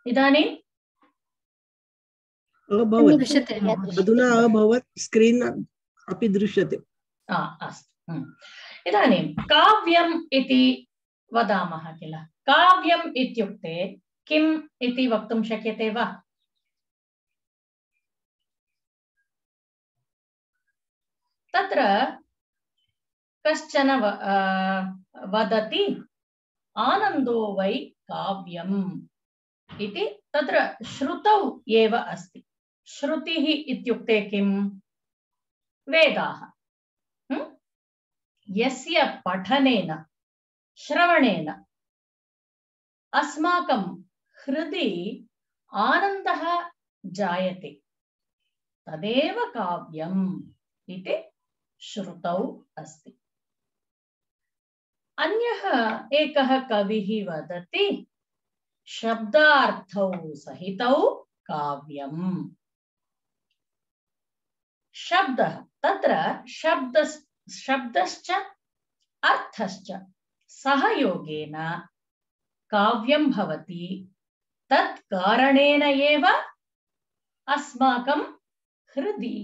इदानीं अधुना अभवत् स्क्रीन् अपि दृश्यते। अस्तु इदानीं काव्यम् इति वदामः किल काव्यम् इत्युक्ते किम् इति वक्तुं शक्यते वा तत्र कश्चन वदति आनन्दो वै काव्यम् इति तत्र श्रुतौ एव अस्ति श्रुतिः इत्युक्ते किम् वेदाः यस्य पठनेन श्रवणेन अस्माकं हृदि आनन्दः जायते तदेव काव्यम् इति श्रुतौ अस्ति अन्यः एकः कविः वदति शब्दार्थौ सहितौ काव्यम् शब्दः तत्र शब्दश्च अर्थश्च सहयोगेन काव्यं भवति तत् कारणेन एव अस्माकं हृदि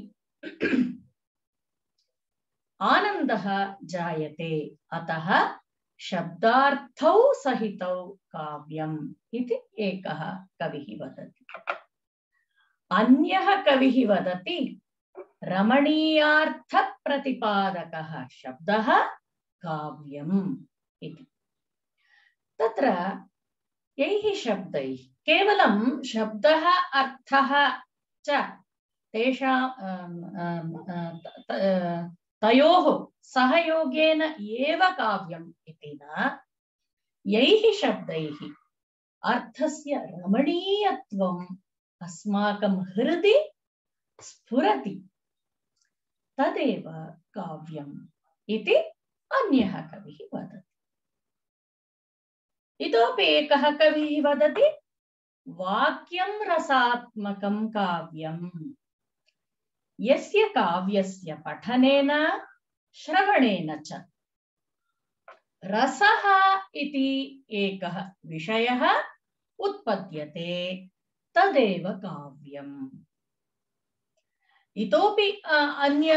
आनन्दः जायते अतः शब्दार्थौ सहितौ काव्यम् इति एकः कविः वदति अन्यः कविः वदति रमणीयार्थप्रतिपादकः शब्दः काव्यम् इति तत्र यैः शब्दैः केवलं शब्दः अर्थः च तेषां तयोः सहयोगेन एव काव्यम् इति न यैः शब्दैः अर्थस्य रमणीयत्वम् अस्माकं हृदि स्फुरति तदेव काव्यम् इति अन्यः कविः वदति इतोपि एकः कविः वदति वाक्यं रसात्मकं काव्यम् यस्य काव्यस्य पठनेन श्रवणेन च रसः इति एकः विषयः उत्पद्यते तदेव काव्यम् इतोपि अन्य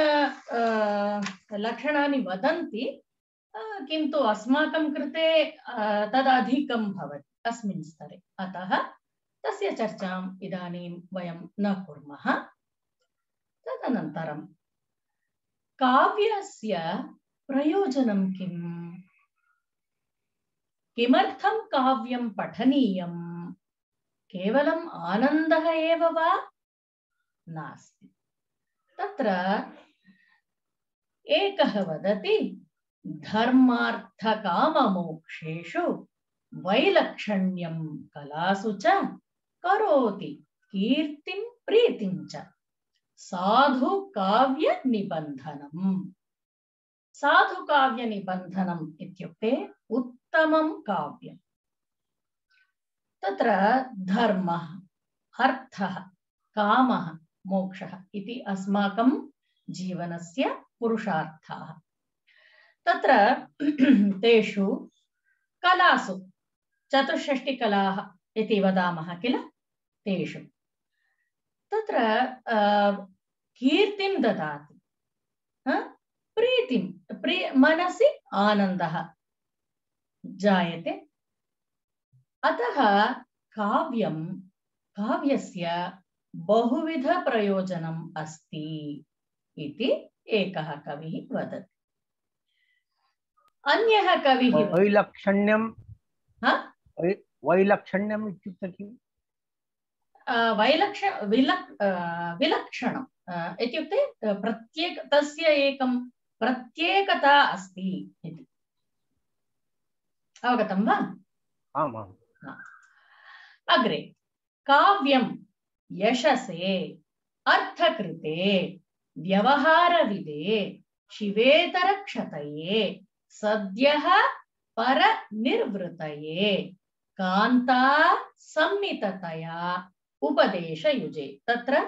लक्षणानि वदन्ति किन्तु अस्माकं कृते तदधिकं भवति अस्मिन् स्तरे अतः तस्य चर्चाम् इदानीं वयं न कुर्मः तदनन्तरं काव्यस्य प्रयोजनं किम् किमर्थं काव्यं पठनीयं केवलम् आनन्दः एव वा नास्ति तत्र एकः वदति धर्मार्थकाममोक्षेषु वैलक्षण्यं कलासु च करोति कीर्तिं प्रीतिं च साधु काव्य निबन्धनम् साधु काव्य निबन्धनम् इत्युक्ते उत्तमं काव्यम् तत्र धर्मः अर्थः कामः मोक्षः इति अस्माकं जीवनस्य पुरुषार्थाः तत्र तेषु कलासु चतुष्षष्टिकलाः इति वदामः किल तेषु तत्र कीर्तिं ददाति प्रीतिं मनसि आनन्दः जायते अतः काव्यस्य बहुविध प्रयोजनम् अस्ति इति एकः कविः वदति अन्यः कविः वैलक्षण्यम् इत्युक्ते किम् विलक्षणम् इत्युक्ते तस्य एकं प्रत्येकता अस्ति इति अवगतं वा आम् आम् अग्रे काव्यं यशसे अर्थकृते व्यवहारविदे शिवेतरक्षतये सद्यः परनिर्वृतये कान्ता सम्मिततया उपदेशयुजे तत्र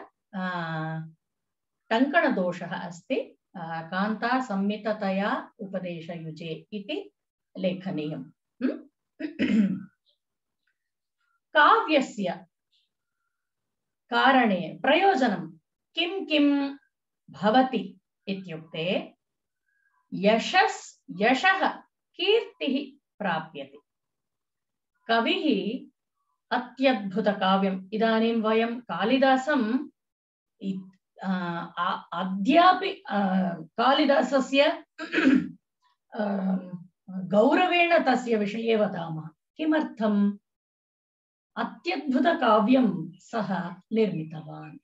टङ्कणदोषः अस्ति कान्ता संमिततया उपदेशयुजे इति लेखनीयम्। काव्यस्य कारणे प्रयोजनं किं किं भवति इत्युक्ते यशः कीर्तिः प्राप्यते। कविः अत्यद्भुतकाव्यम् इदानीं वयं कालिदासं अद्यापि कालिदासस्य गौरवेण तस्य विषये वदामः। किमर्थम्? अत्यद्भुतकाव्यं सः निर्मितवान्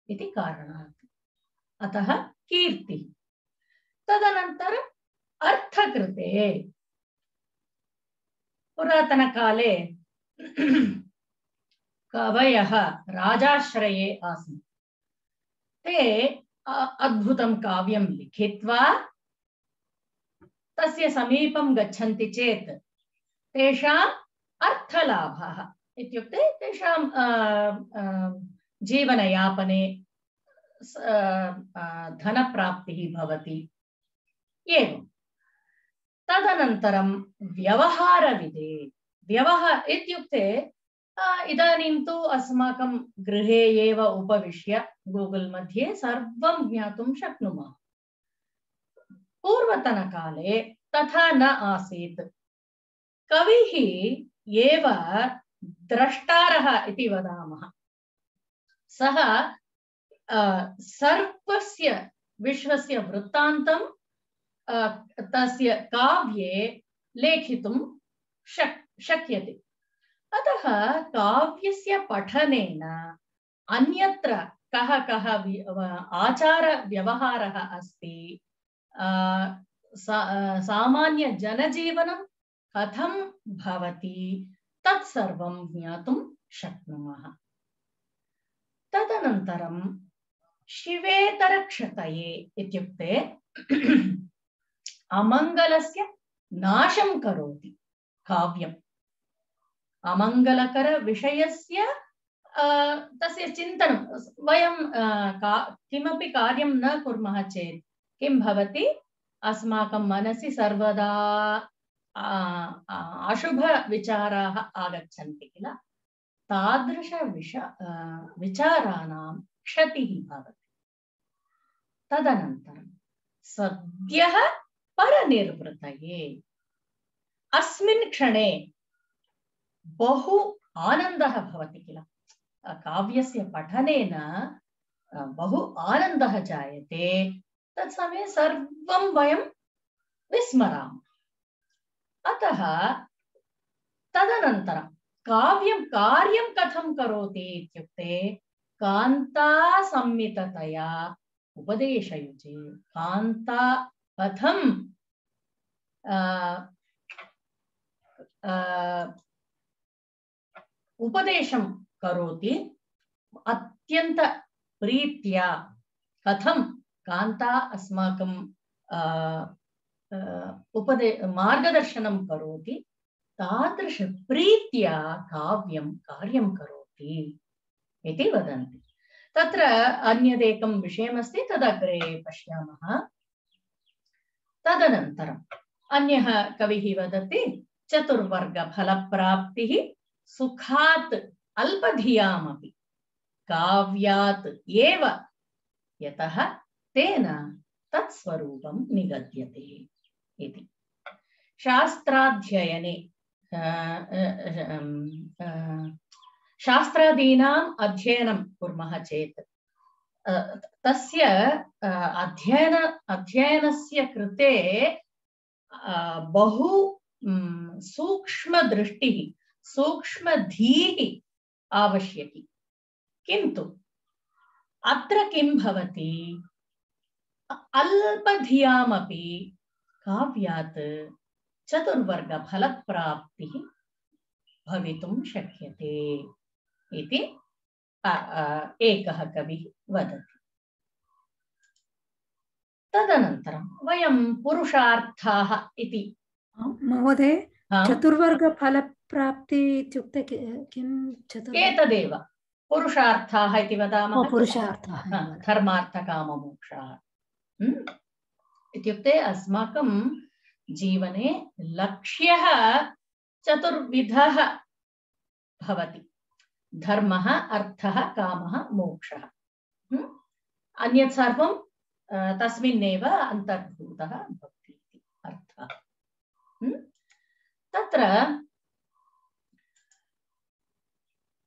इति कारणात्। अतः कीर्तिः। तदनन्तरम् अर्थकृते पुरातनकाले कवयः राजाश्रये आसन्। ते अद्भुतं काव्यं लिखित्वा तस्य समीपं गच्छन्ति चेत् तेषाम् अर्थलाभः इत्युक्ते तेषां जीवनयापने धनप्राप्तिः भवति। एवं तदनन्तरं व्यवहारविधे इत्युक्ते इदानीं तु अस्माकं गृहे एव उपविश्य गूगल मध्ये सर्वं ज्ञातुं शक्नुमः। पूर्वतनकाले तथा न आसीत्। कविः एव द्रष्टारः इति वदामः। सः सर्वस्य विश्वस्य वृत्तान्तं तस्य काव्ये लेखितुं शक्यते। अतः काव्यस्य पठनेन अन्यत्र कः आचारव्यवहारः अस्ति, सामान्य जनजीवनं कथं भवति तत्सर्वं ज्ञातुं शक्नुमः। तदनन्तरं शिवेतरक्षतये इत्युक्ते अमङ्गलस्य नाशं करोति काव्यम्। अमङ्गलकर विषयस्य तस्य चिन्तनं वयं किमपि कार्यं न कुर्मः चेत् किं भवति? अस्माकं मनसि सर्वदा अशुभविचाराः आगच्छन्ति किल। तादृश विचाराणां क्षतिः भवति। तदनन्तरं सद्यः परनिर्वृतये अस्मिन् क्षणे बहु आनन्दः भवति किल। काव्यस्य पठनेन बहु आनन्दः जायते। तत्समये सर्वं वयं विस्मरामः। अतः तदनन्तरं कार्यं कथं करोति इत्युक्ते कान्ता संमिततया उपदेशयुजे। कान्ता कथं उपदेशं करोति, अत्यंत प्रीत्या कथं कान्ता अस्माकं मार्गदर्शनं करोति, तादृश प्रीत्या कार्यं करोति इति वदन्ति। तत्र अन्यदेकं विषयमस्ति, तदग्रे पश्यामः। तदनन्तरम् अन्यः कविः वदति चतुर्वर्गफलप्राप्तिः सुखात् अल्पधियामपि काव्यात् एव यतः तेन तत्स्वरूपं निगद्यते इति। शास्त्राध्ययने शास्त्रादीनाम् अध्ययनं कुर्मः चेत् तस्य अध्ययनस्य कृते बहु सूक्ष्मदृष्टिः सूक्ष्मधीः आवश्यकी। किन्तु अत्र किं भवति, अल्पधियामपि काव्यात् चतुर्वर्गफलप्राप्तिः भवितुं शक्यते इति एकः कविः वदति। तदनन्तरं वयं पुरुषार्थाः इति। महोदय, चतुर्वर्गफलप्राप्ति इत्युक्ते किं? एतदेव पुरुषार्थाः इति वदामः। पुरुषार्थाः धर्मार्थकाममोक्षाः। इत्युक्ते अस्माकं जीवने लक्ष्यः चतुर्विधः भवति। धर्मः, अर्थः, कामः, मोक्षः। अन्यत् सर्वं तस्मिन्नेव अन्तर्भूतः भवति इति अर्थः। तत्र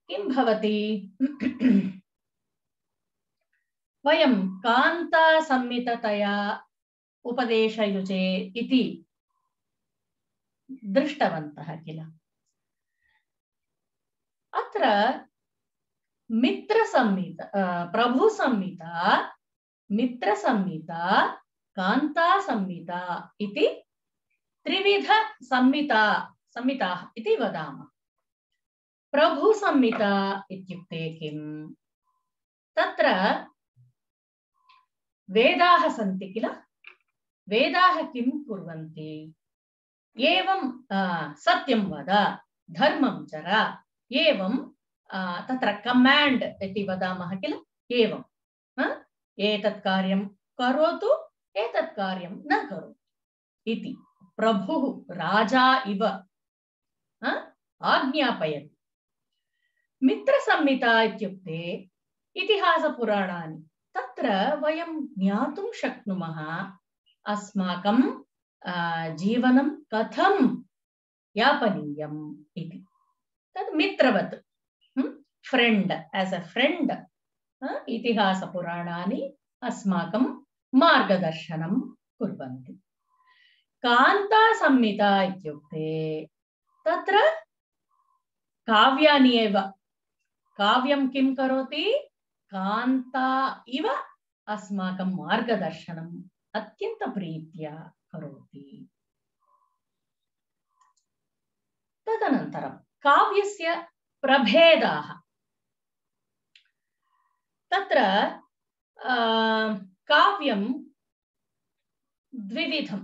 किं भवति? वयं कान्तासम्मिततया उपदेशयुजे इति दृष्टवन्तः किल। अत्र मित्रसंहिता, प्रभुसंहिता, मित्रसंहिता, कान्तासंहिता इति त्रिविध संहिताः इति वदामः। प्रभुसंहिता इत्युक्ते किम्? तत्र वेदाः सन्ति किल। वेदाः किं कुर्वन्ति? एवं सत्यं वद, धर्मं चर, एवं तत्र कमाण्ड् इति वदामः किल। एवं एतत् कार्यं करोतु, एतत् कार्यं न करोतु इति प्रभुः राजा इव आज्ञापयति। मित्रसंहिता इत्युक्ते इतिहासपुराणानि। तत्र वयं ज्ञातुं शक्नुमः अस्माकं जीवनं कथं यापनीयम् इति। तद् मित्रवत्, फ्रेंड, एस् अ फ्रेंड इतिहासपुराणानि अस्माकं मार्गदर्शनं कुर्वन्ति। कान्तासंहिता इत्युक्ते तत्र काव्यानि एव। काव्यं किं करोति? कान्ता इव अस्माकं मार्गदर्शनम् अत्यन्तप्रीत्या करोति। तदनन्तरं काव्यस्य प्रभेदाः। तत्र काव्यं द्विविधं,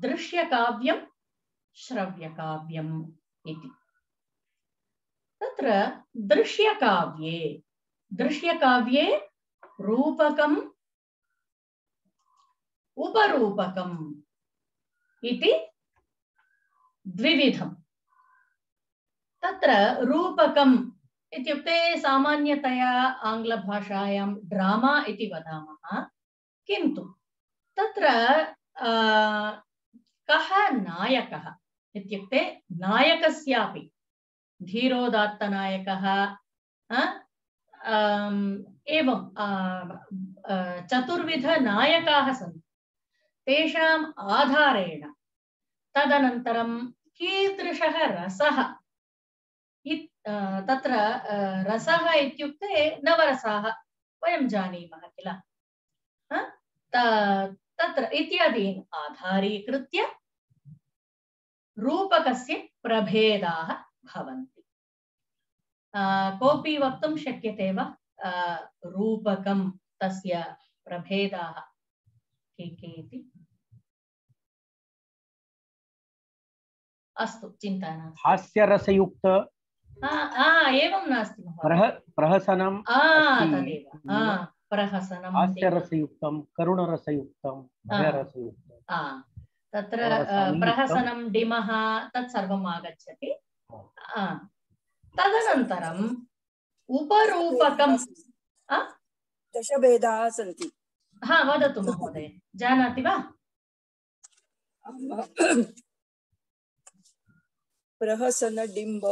दृश्यकाव्यं, श्रव्यकाव्यम् इति। तत्र दृश्यकाव्ये रूपकम् उपरूपकम् इति द्विविधम्। तत्र रूपकम् इत्युक्ते सामान्यतया आङ्ग्लभाषायां ड्रामा इति वदामः, किन्तु तत्र कः नायकः इत्युक्ते नायकस्यापि धीरोदात्तनायकः, एवं चतुर्विध नायकाः सन्ति। तेषाम् आधारेण तदनन्तरं कीदृशः रसः, तत्र रसः इत्युक्ते नवरसाः वयं जानीमः किल। तत्र इत्यादीन् आधारीकृत्य रूपकस्य प्रभेदाः भवन्ति। कोऽपि वक्तुं शक्यते वा रूपकं तस्य प्रभेदाः के के इति? अस्तु, चिन्ता नास्ति। हास्यरसयुक्त एवं नास्ति महोदय। प्रहसनं तदेव प्रहसनं, हास्यरसयुक्तं, करुणरसयुक्तं, भयरसयुक्तं। तत्र प्रहसनं, डिमः तत् सर्वम् आगच्छति। तदनन्तरम् उपरूपकं दशभेदाः सन्ति। वदतु महोदय, जानाति वा? प्रहसन, डिम्ब,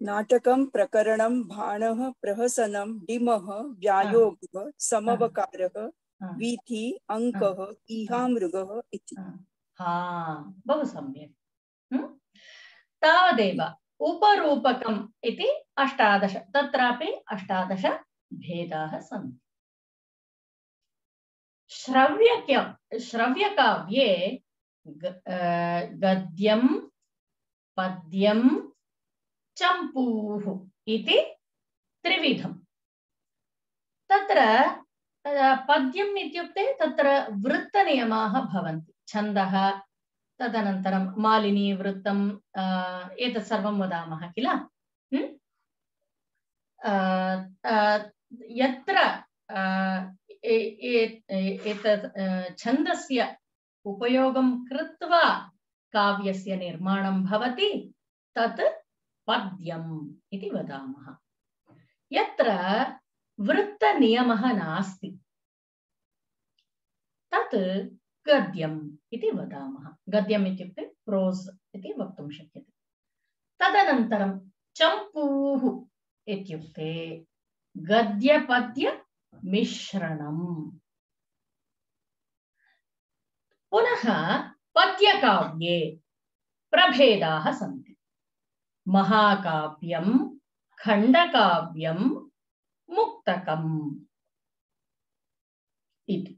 नाटकं, प्रकरणं, भाणः, प्रहसनं, डिमः, व्यायोगः, समवकारः, वीथि, अङ्कः, ईहामृगः इति। बहु सम्यक्। तावदेव उपरूपकम् इति 18, तत्रापि 18 भेदाः सन्ति। श्रव्यकाव्ये गद्यं, पद्यं, चम्पूः इति त्रिविधम्। तत्र पद्यम् इत्युक्ते तत्र वृत्तनियमाः भवन्ति, छन्दः, तदनन्तरं मालिनी वृत्तम् एतत् सर्वं वदामः किल। यत्र एतत् छन्दस्य उपयोगं कृत्वा काव्यस्य निर्माणं भवति तत् पद्यम् इति वदामः। यत्र वृत्तनियमः नास्ति तत् गद्यम् इति वदामः। गद्यम् इत्युक्ते प्रोस् इति वक्तुं शक्यते। तदनन्तरं चम्पूः इत्युक्ते गद्यपद्य मिश्रणम्। पुनः पद्यकाव्ये प्रभेदाः सन्ति। महाकाव्यं, खण्डकाव्यं, मुक्तकम् इति।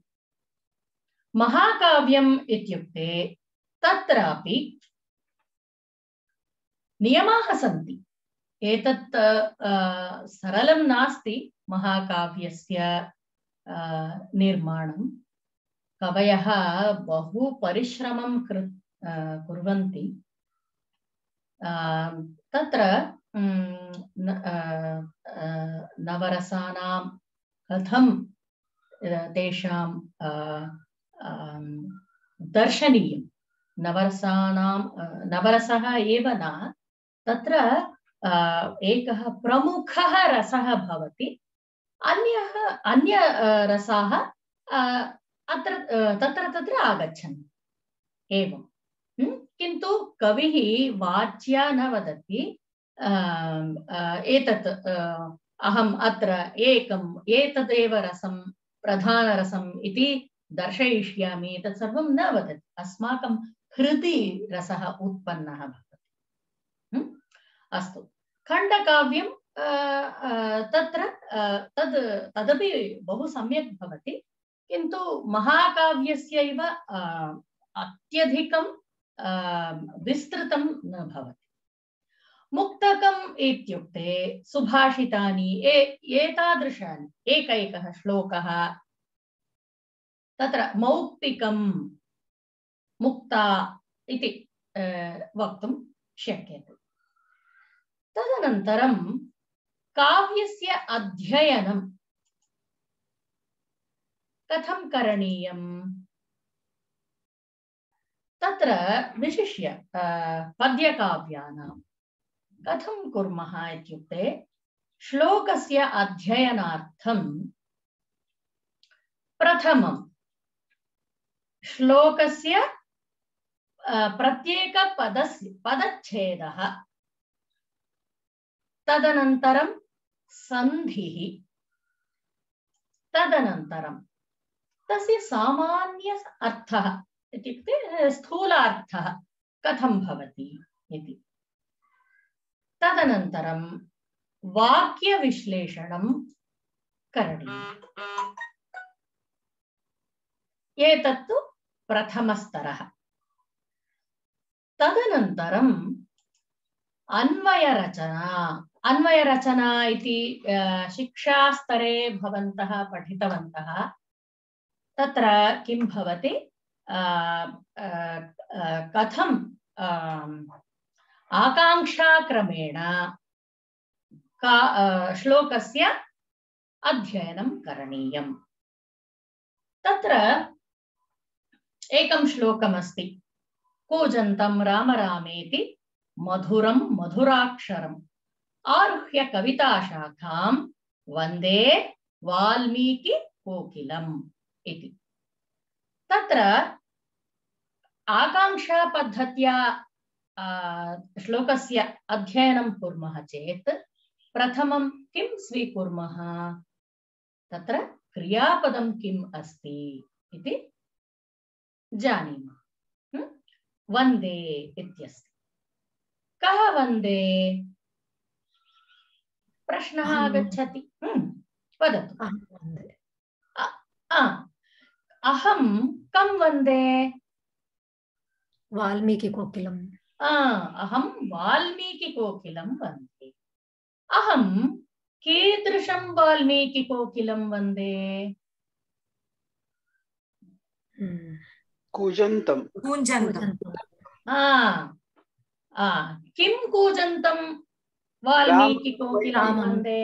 महाकाव्यम् इत्युक्ते तत्रापि नियमाः सन्ति। एतत् सरलं नास्ति महाकाव्यस्य निर्माणं। कवयः बहु परिश्रमं कुर्वन्ति। तत्र नवरसानां कथं तेषां दर्शनीयं। नवरसः एव न, तत्र एकः प्रमुखः रसः भवति, अन्य रसाः तत्र आगच्छन्ति एवं। किन्तु कविः वाच्या न वदति एतत् अहम् अत्र एतदेव रसं प्रधानरसम् इति दर्शयिष्यामि, एतत् सर्वं न वदति। अस्माकं हृदि रसः उत्पन्नः भवति। अस्तु, खण्डकाव्यं तदपि बहु सम्यक् भवति, किन्तु महाकाव्यस्यैव अत्यधिकं विस्तृतं न भवति। मुक्तकम् इत्युक्ते सुभाषितानि एतादृशानि एकैकः श्लोकः, तत्र मौक्तिकं मुक्ता इति वक्तुं शक्यते। तदनन्तरं काव्यस्य अध्ययनं कथं करणीयम्? तत्र विशिष्य पद्यकाव्यानां कथं कुर्मः इत्युक्ते श्लोकस्य अध्ययनार्थं प्रथमं श्लोकस्य पदच्छेदः, तदनन्तरं सन्धिः, तदनन्तरं तस्य सामान्य अर्थः इत्युक्ते स्थूलार्थः कथं भवति इति, तदनन्तरं वाक्यविश्लेषणं करणीयम्। एतत्तु प्रथमस्तरः। तदनन्तरम् अन्वयरचना इति शिक्षास्तरे भवन्तः पठितवन्तः। तत्र किं भवति, कथं आकाङ्क्षाक्रमेण श्लोकस्य अध्ययनं करणीयम्। तत्र एकं श्लोकमस्ति, कूजन्तं राम रामेति मधुरं मधुराक्षरम् आरुह्य कविताशाखां वन्दे वाल्मीकि कोकिलम् इति। तत्र आकाङ्क्षापद्धत्या श्लोकस्य अध्ययनं कुर्मः चेत् प्रथमं किं स्वीकुर्मः, तत्र क्रियापदं किम् अस्ति इति जानीमः। वन्दे इत्यस्ति। कः वन्दे? प्रश्नः आगच्छति। वदतु। अहं कं वन्दे? वाल्मीकिकोकिलम्। अहं वाल्मीकिकोकिलं वन्दे। अहं कीदृशं वाल्मीकिकोकिलं वन्दे? कूजन्तं किं कूजन्तं वाल्मीकिकोकिलं वन्दे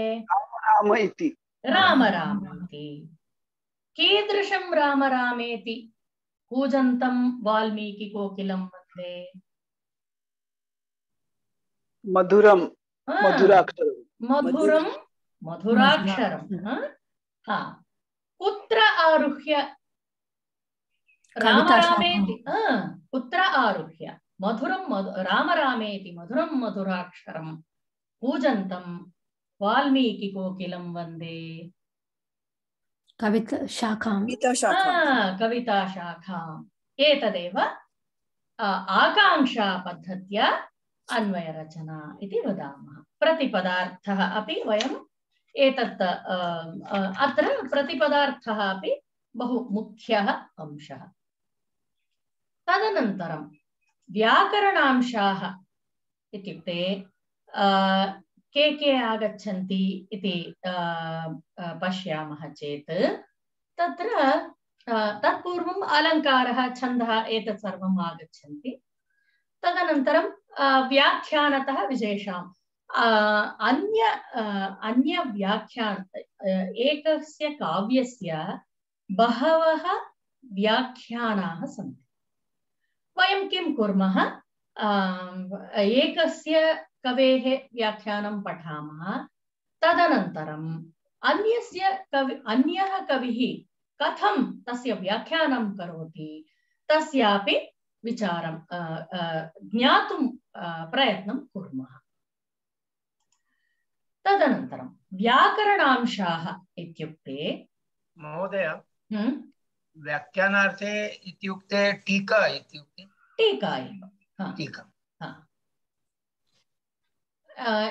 राम इति राम रामेति कीदृशं राम रामेति कूजन्तं वाल्मीकिकोकिलं वन्दे मधुरं मधुराक्षरं मधुरं मधुराक्षरं कुत्र आरुह्य राम रामेति कुत्र आरुह्य मधुरं राम रामेति मधुरं मधुराक्षरं कूजन्तं वाल्मीकिकोकिलं वन्दे कविताशाखाम् एतदेव आकांक्षापद्धत्या अन्वयरचना इति वदामः। प्रतिपदार्थः अपि वयम् एतत् अत्र प्रतिपदार्थः अपि बहु मुख्यः अंशः। तदनन्तरं व्याकरणांशाः इत्युक्ते के आगच्छन्ति इति पश्यामः चेत् तत्र तत्पूर्वम् अलङ्कारः छन्दः एतत् सर्वम् आगच्छन्ति। तदनन्तरं व्याख्यानतः विशेषाम् अन्य व्याख्यान एकस्य काव्यस्य बहवः व्याख्यानाः सन्ति। वयं किं कुर्मः एकस्य कवेः व्याख्यानं पठामः तदनन्तरं अन्यः कविः कथं तस्य व्याख्यानं करोति तस्यापि विचारं ज्ञातुं प्रयत्नं कुर्मः। तदनन्तरं व्याकरणांशाः इत्युक्ते महोदय व्याख्यानार्थे इत्युक्ते टीका इत्युक्ते टीका एव टीका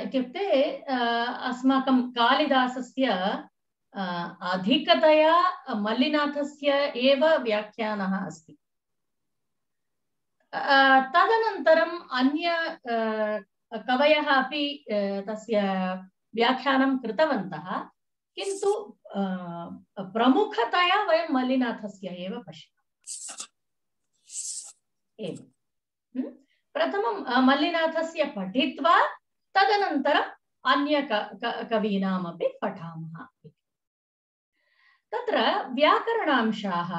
इत्युक्ते अस्माकं कालिदासस्य अधिकतया मल्लिनाथस्य एव व्याख्यानः अस्ति। तदनन्तरं अन्य कवयः अपि तस्य व्याख्यानं कृतवन्तः, किन्तु प्रमुखतया वयं मल्लिनाथस्य एव पश्यामः। प्रथमं मल्लिनाथस्य पठित्वा तदनन्तरम् अन्य कवीनामपि पठामः। तत्र व्याकरणांशाः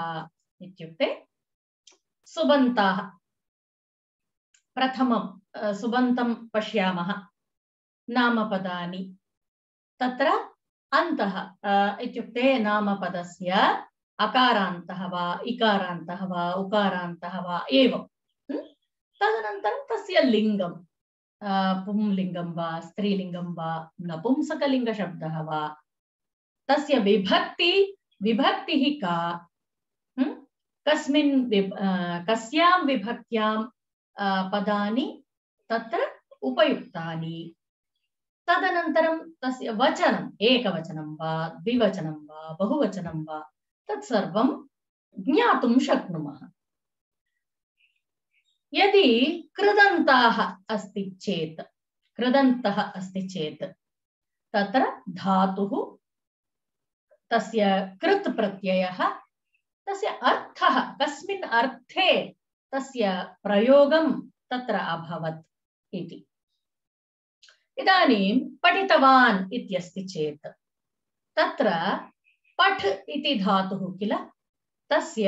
इत्युक्ते सुबन्ताः। प्रथमं सुबन्तं पश्यामः नामपदानि। तत्र अन्तः इत्युक्ते नामपदस्य अकारान्तः वा इकारान्तः वा उकारान्तः वा एवं। तदनन्तरं तस्य लिङ्गं पुंलिङ्गं वा स्त्रीलिङ्गं वा नपुंसकलिङ्गशब्दः वा तस्य विभक्तिः का, कस्यां विभक्त्यां पदानि तत्र उपयुक्तानि। तदनन्तरं तस्य वचनम् एकवचनं वा द्विवचनं वा बहुवचनं वा तत्सर्वं ज्ञातुं शक्नुमः। यदि कृदन्तः अस्ति चेत् तत्र धातुः तस्य कृत् प्रत्ययः तस्य अर्थः कस्मिन् अर्थे तस्य प्रयोगं तत्र अभवत् इति। इदानीं पठितवान् इत्यस्ति चेत् तत्र पठ् इति धातुः किल, तस्य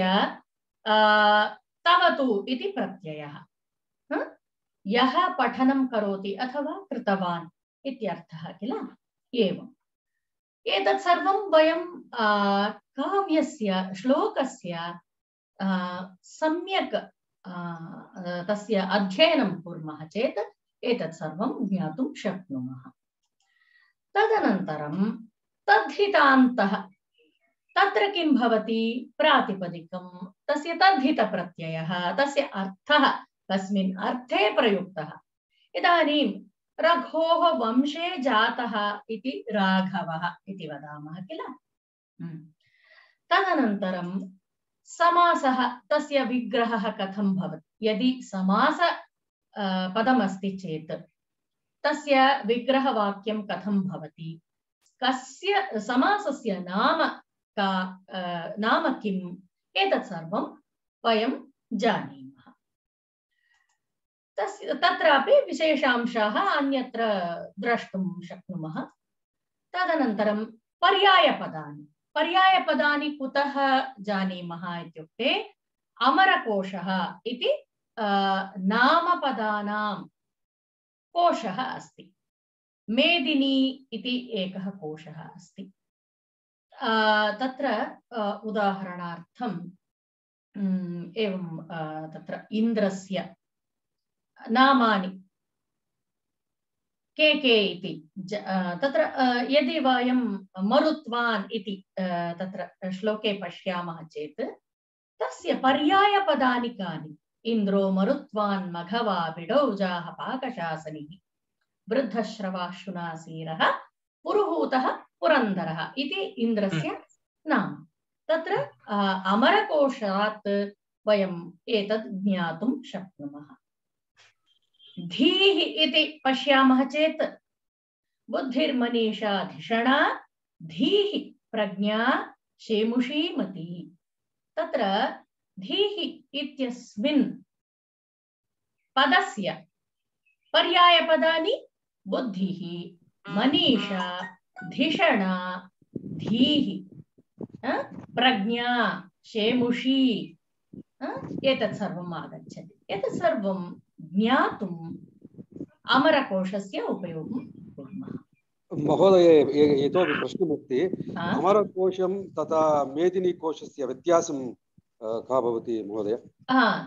तवतु इति प्रत्ययः। यः पठनं करोति अथवा कृतवान् इत्यर्थः किल। एवम् एतत् सर्वं वयं काव्यस्य श्लोकस्य सम्यक् तस्य अध्ययनं कुर्मः चेत् एतत् सर्वं ज्ञातुं शक्नुमः। तदनन्तरं तद्धितान्तः। तत्र किं भवति, प्रातिपदिकं तस्य तद्धितप्रत्ययः, तस्य अर्थः कस्मिन् अर्थे प्रयुक्तः। इदानीं रघोः वंशे जातः इति राघवः इति वदामः किल। तदनन्तरं समासः, तस्य विग्रहः कथं भवति। यदि समास पदमस्ति चेत् तस्य विग्रहवाक्यं कथं भवति, कस्य समासस्य नाम किम्, एतत् सर्वं वयं जानीमः। तत्रापि विशेषांशाः अन्यत्र द्रष्टुं शक्नुमः। तदनन्तरं पर्यायपदानि। पर्यायपदानि कुतः जानीमः इत्युक्ते अमरकोशः इति नामपदानां कोशः अस्ति। मेदिनी इति एकः कोशः अस्ति। तत्र उदाहरणार्थं एवं तत्र इन्द्रस्य नामानि के इति तत्र यदि वयं मरुत्वान् इति तत्र श्लोके पश्यामः चेत् तस्य पर्यायपदानि कानि? इन्द्रो मरुत्वान् मघवा बिडौजाः पाकशासनिः वृद्धश्रवाशुनासीरः पुरुहूतः पुरन्दरः इति इन्द्रस्य नाम। तत्र अमरकोशात् वयम् एतद् ज्ञातुं शक्नुमः। धीः इति पश्यामः चेत् बुद्धिर्मनीषा धिषणा धीः प्रज्ञा शेमुषी मती। तत्र धीः इत्यस्मिन् पदस्य पर्यायपदानि बुद्धिः, मनीषा, धिषणा, धीः, प्रज्ञा, शेमुषी एतत् सर्वम् आगच्छति। एतत् सर्वं ज्ञातुम् अमरकोशस्य उपयोगं कुर्मः। महोदय, इतोपि प्रश्नमस्ति। अमरकोशं तथा मेदिनीकोशस्य व्यत्यासं का भवति महोदय?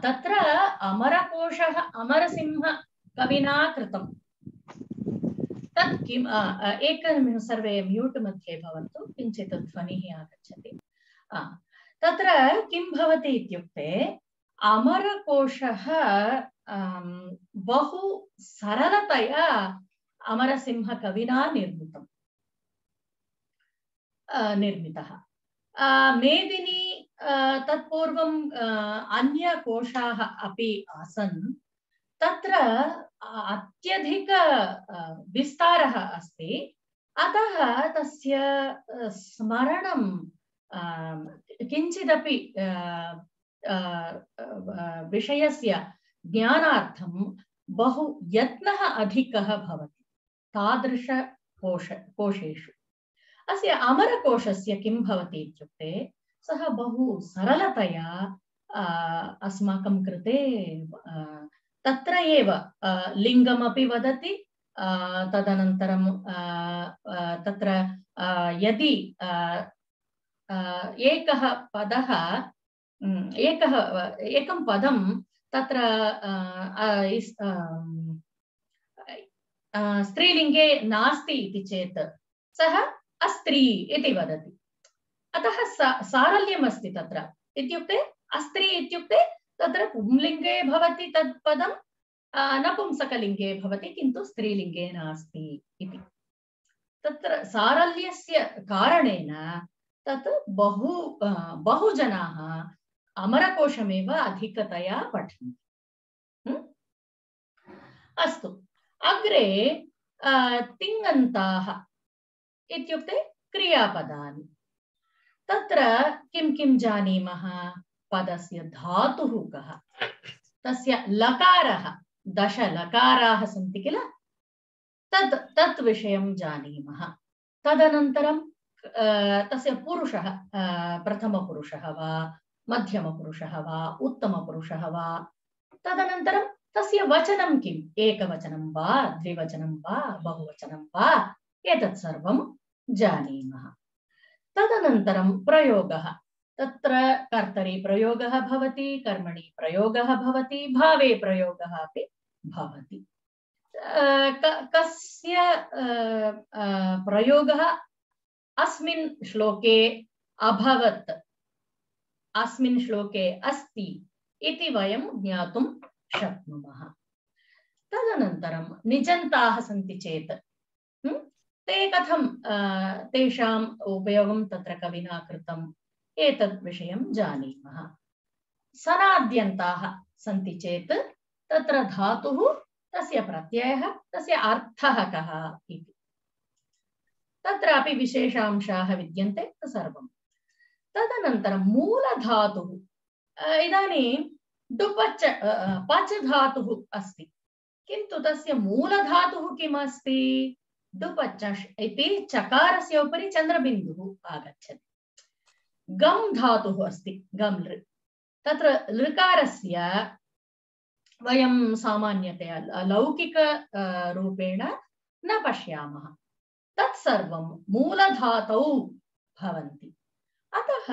तत्र अमरकोशः अमरसिंह कविना कृतं। तत् किम्? एकनिमिषं सर्वे म्यूट् मध्ये भवन्तु, किञ्चित् ध्वनिः आगच्छति। तत्र किं भवति इत्युक्ते अमरकोशः बहु सरलतया अमरसिंह कविना निर्मितः। मेदिनी तत्पूर्वं अन्यकोशाः अपि आसन्। तत्र अत्यधिक विस्तारः अस्ति, अतः तस्य स्मरणं किञ्चिदपि विषयस्य ज्ञानार्थं बहु यत्नः अधिकः भवति तादृश कोशेषु। अस्य अमरकोशस्य किं भवति इत्युक्ते सः बहु सरलतया अस्माकं कृते तत्र एव लिङ्गमपि वदति। तदनन्तरं तत्र यदि एकं पदं तत्र स्त्रीलिङ्गे नास्ति इति चेत् सः अस्त्री इति वदति। अतः सारल्यम् अस्ति तत्र। इत्युक्ते अस्त्री इत्युक्ते तत्र पुंलिङ्गे भवति तत् पदं, नपुंसकलिङ्गे भवति किन्तु स्त्रीलिङ्गे नास्ति इति। तत्र सारल्यस्य कारणेन तत् बहु जनाः अमरकोशमेव अधिकतया पठन्ति। अस्तु, अग्रे तिङन्ताः इत्युक्ते क्रियापदानि। तत्र किं किं जानीमः? पदस्य धातुः कः, तस्य लकारः, 10 लकाराः सन्ति किल, तत् विषयं जानीमः। तदनन्तरं तस्य पुरुषः प्रथमपुरुषः वा मध्यमपुरुषः वा उत्तमपुरुषः वा, तदनन्तरं तस्य वचनं किम्, एकवचनं वा द्विवचनं वा बहुवचनं वा, एतत् सर्वं जानीमः। तदनन्तरं प्रयोगः। तत्र कर्तरि प्रयोगः भवति, कर्मणि प्रयोगः भवति, भावे प्रयोगः अपि भवति। कस्य प्रयोगः अस्मिन् श्लोके अभवत्, अस्मिन् श्लोके अस्ति इति वयं ज्ञातुं शक्नुमः। तदनन्तरं निजन्ताः सन्ति चेत् ते कथं तेषाम् उपयोगं तत्र कविना कृतम्, एतद् विषयं जानीमः। सनाद्यन्ताः सन्ति चेत् तत्र धातुः, तस्य प्रत्ययः, तस्य अर्थः कः इति, तत्रापि विशेषांशाः विद्यन्ते सर्वं। तदनन्तरं मूलधातुः। इदानीं डुपच पच धातुः अस्ति किन्तु तस्य मूलधातुः किमस्ति डुपचष् इति चकारस्य उपरि चन्द्रबिन्दुः आगच्छति गम् धातुः अस्ति गम् लृ तत्र लृकारस्य वयं सामान्यतया लौकिक रूपेण न पश्यामः तत्सर्वं मूलधातौ भवन्ति अतः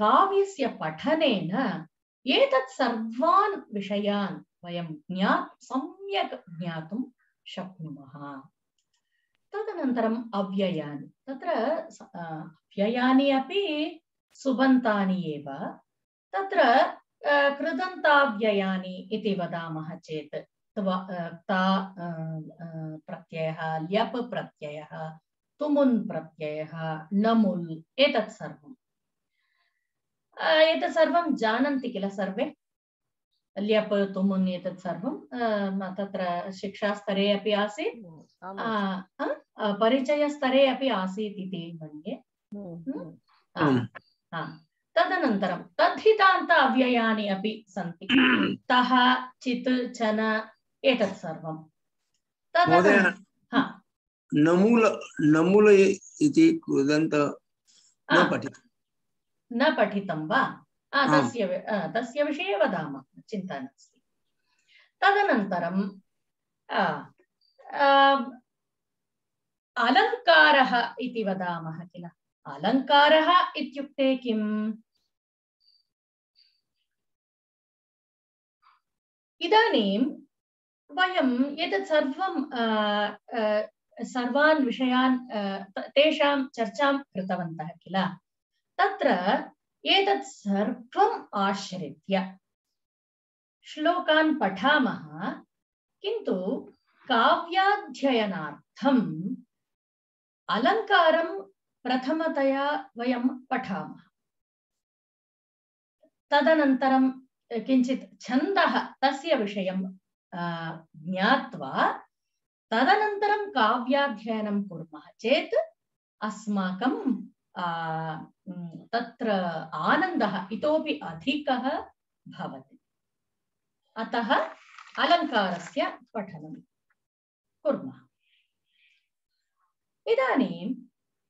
काव्यस्य पठनेन एतत् सर्वान् विषयान् वयं सम्यक् ज्ञातुं शक्नुमः तदनन्तरम् अव्ययानि तत्र अव्ययानि अपि सुबन्तानि एव तत्र कृदन्ताव्ययानि इति वदामः चेत् ता प्रत्ययः ल्यप् प्रत्ययः तुमुन् प्रत्ययः नमुल् एतत् सर्वं जानन्ति किल सर्वे ल्यप् तुमुन् एतत् सर्वं तत्र शिक्षास्तरे अपि आसीत् परिचयस्तरे अपि आसीत् इति मन्ये तदनन्तरं तद्धितान्त अव्ययानि अपि सन्ति तः चित् चन एतत् सर्वं नमुल इति कृदन्त न पठितं वा तस्य विषये वदामः चिन्ता नास्ति तदनन्तरं अलङ्कारः इति वदामः किल अलङ्कारः इत्युक्ते किम् इदानीं वयं एतत् सर्वान् विषयान् तेषां चर्चां कृतवन्तः किल तत्र एतत् सर्वम् आश्रित्य श्लोकान् पठामः किन्तु काव्याध्ययनार्थम् अलङ्कारं प्रथमतया वयं पठामः तदनन्तरं किञ्चित् छन्दः तस्य विषयं ज्ञात्वा तदनन्तरं काव्याध्ययनं कुर्मः चेत् अस्माकं तत्र आनन्दः इतोपि अधिकः भवति अतः अलङ्कारस्य पठनं कुर्मः इदानीम्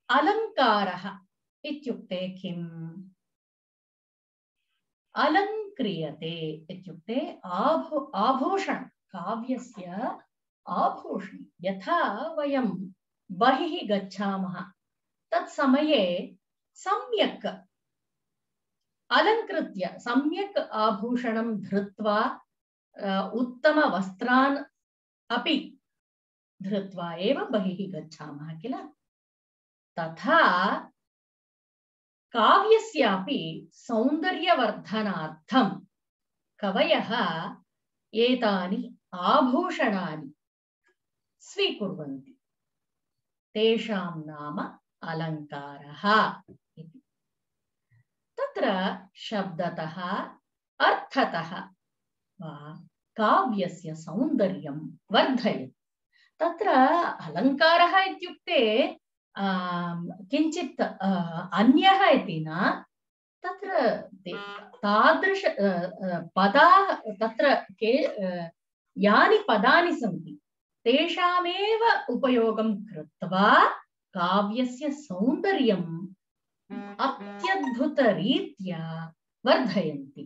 अलङ्कारः इत्युक्ते किम् अलङ्क्रियते इत्युक्ते आभूषणं काव्यस्य आभूषणं यथा वयं बहिः गच्छामः तत्समये सम्यक् अलङ्कृत्य सम्यक् आभूषणं धृत्वा उत्तमवस्त्रान् अपि धृत्वा एव बहिः गच्छामः किल तथा काव्यस्यापि सौन्दर्यवर्धनार्थं कवयः एतानि आभूषणानि स्वीकुर्वन्ति तेषां नाम अलङ्कारः इति तत्र शब्दतः अर्थतः वा काव्यस्य सौन्दर्यं वर्धयति तत्र अलङ्कारः इत्युक्ते किञ्चित् अन्यः इति न तत्र तादृश पदाः तत्र यानि पदानि सन्ति तेषामेव उपयोगं कृत्वा काव्यस्य सौन्दर्यम् अत्यद्भुतरीत्या वर्धयन्ति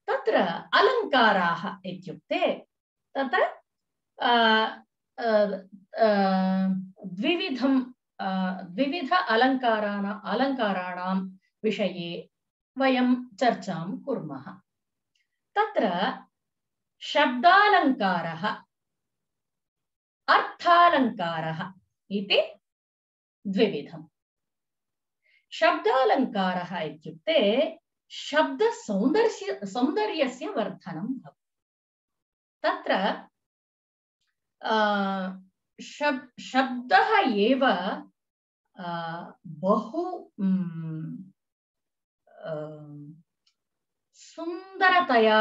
तत्र अलङ्काराः इत्युक्ते तत्र द्विविध अलङ्काराणां विषये वयं चर्चां कुर्मः तत्र शब्दालङ्कारः अर्थालङ्कारः इति द्विविधम् शब्दालङ्कारः इत्युक्ते शब्दसौन्दर्यस्य वर्धनं भवति तत्र शब्दः एव बहु सुन्दरतया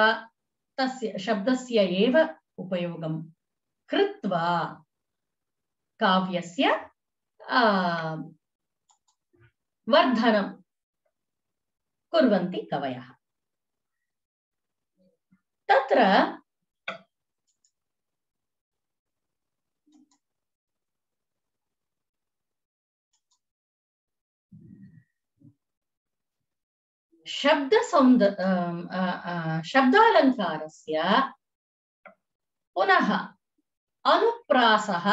तस्य शब्दस्य एव उपयोगं कृत्वा काव्यस्य वर्धनं कुर्वन्ति कवयः। तत्र शब्दालङ्कारस्य पुनः अनुप्रासः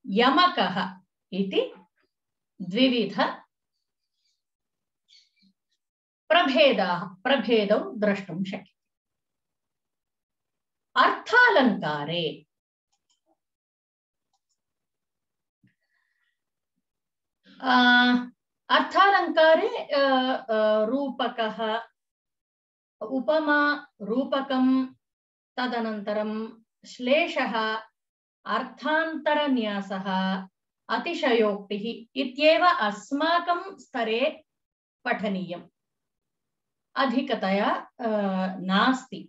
यमकः इति द्विविध प्रभेदौ द्रष्टुं शक्यते। अर्थालङ्कारे रूपकः, उपमा, रूपकं, तदनन्तरं श्लेषः, अर्थान्तरन्यासः, अतिशयोक्तिः इत्येव अस्माकं स्तरे पठनीयम्। अधिकतया नास्ति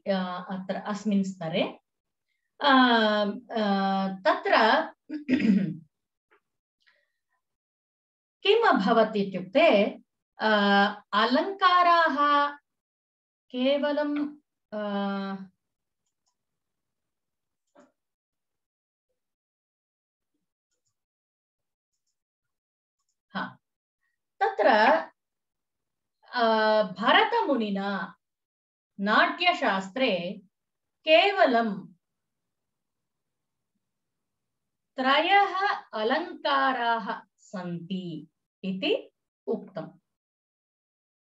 अत्र अस्मिन् स्तरे। तत्र किम् अभवत् इत्युक्ते अलङ्काराः केवलं तत्र भरतमुनिना नाट्यशास्त्रे केवलं त्रयः अलङ्काराः सन्ति इति उक्तम्।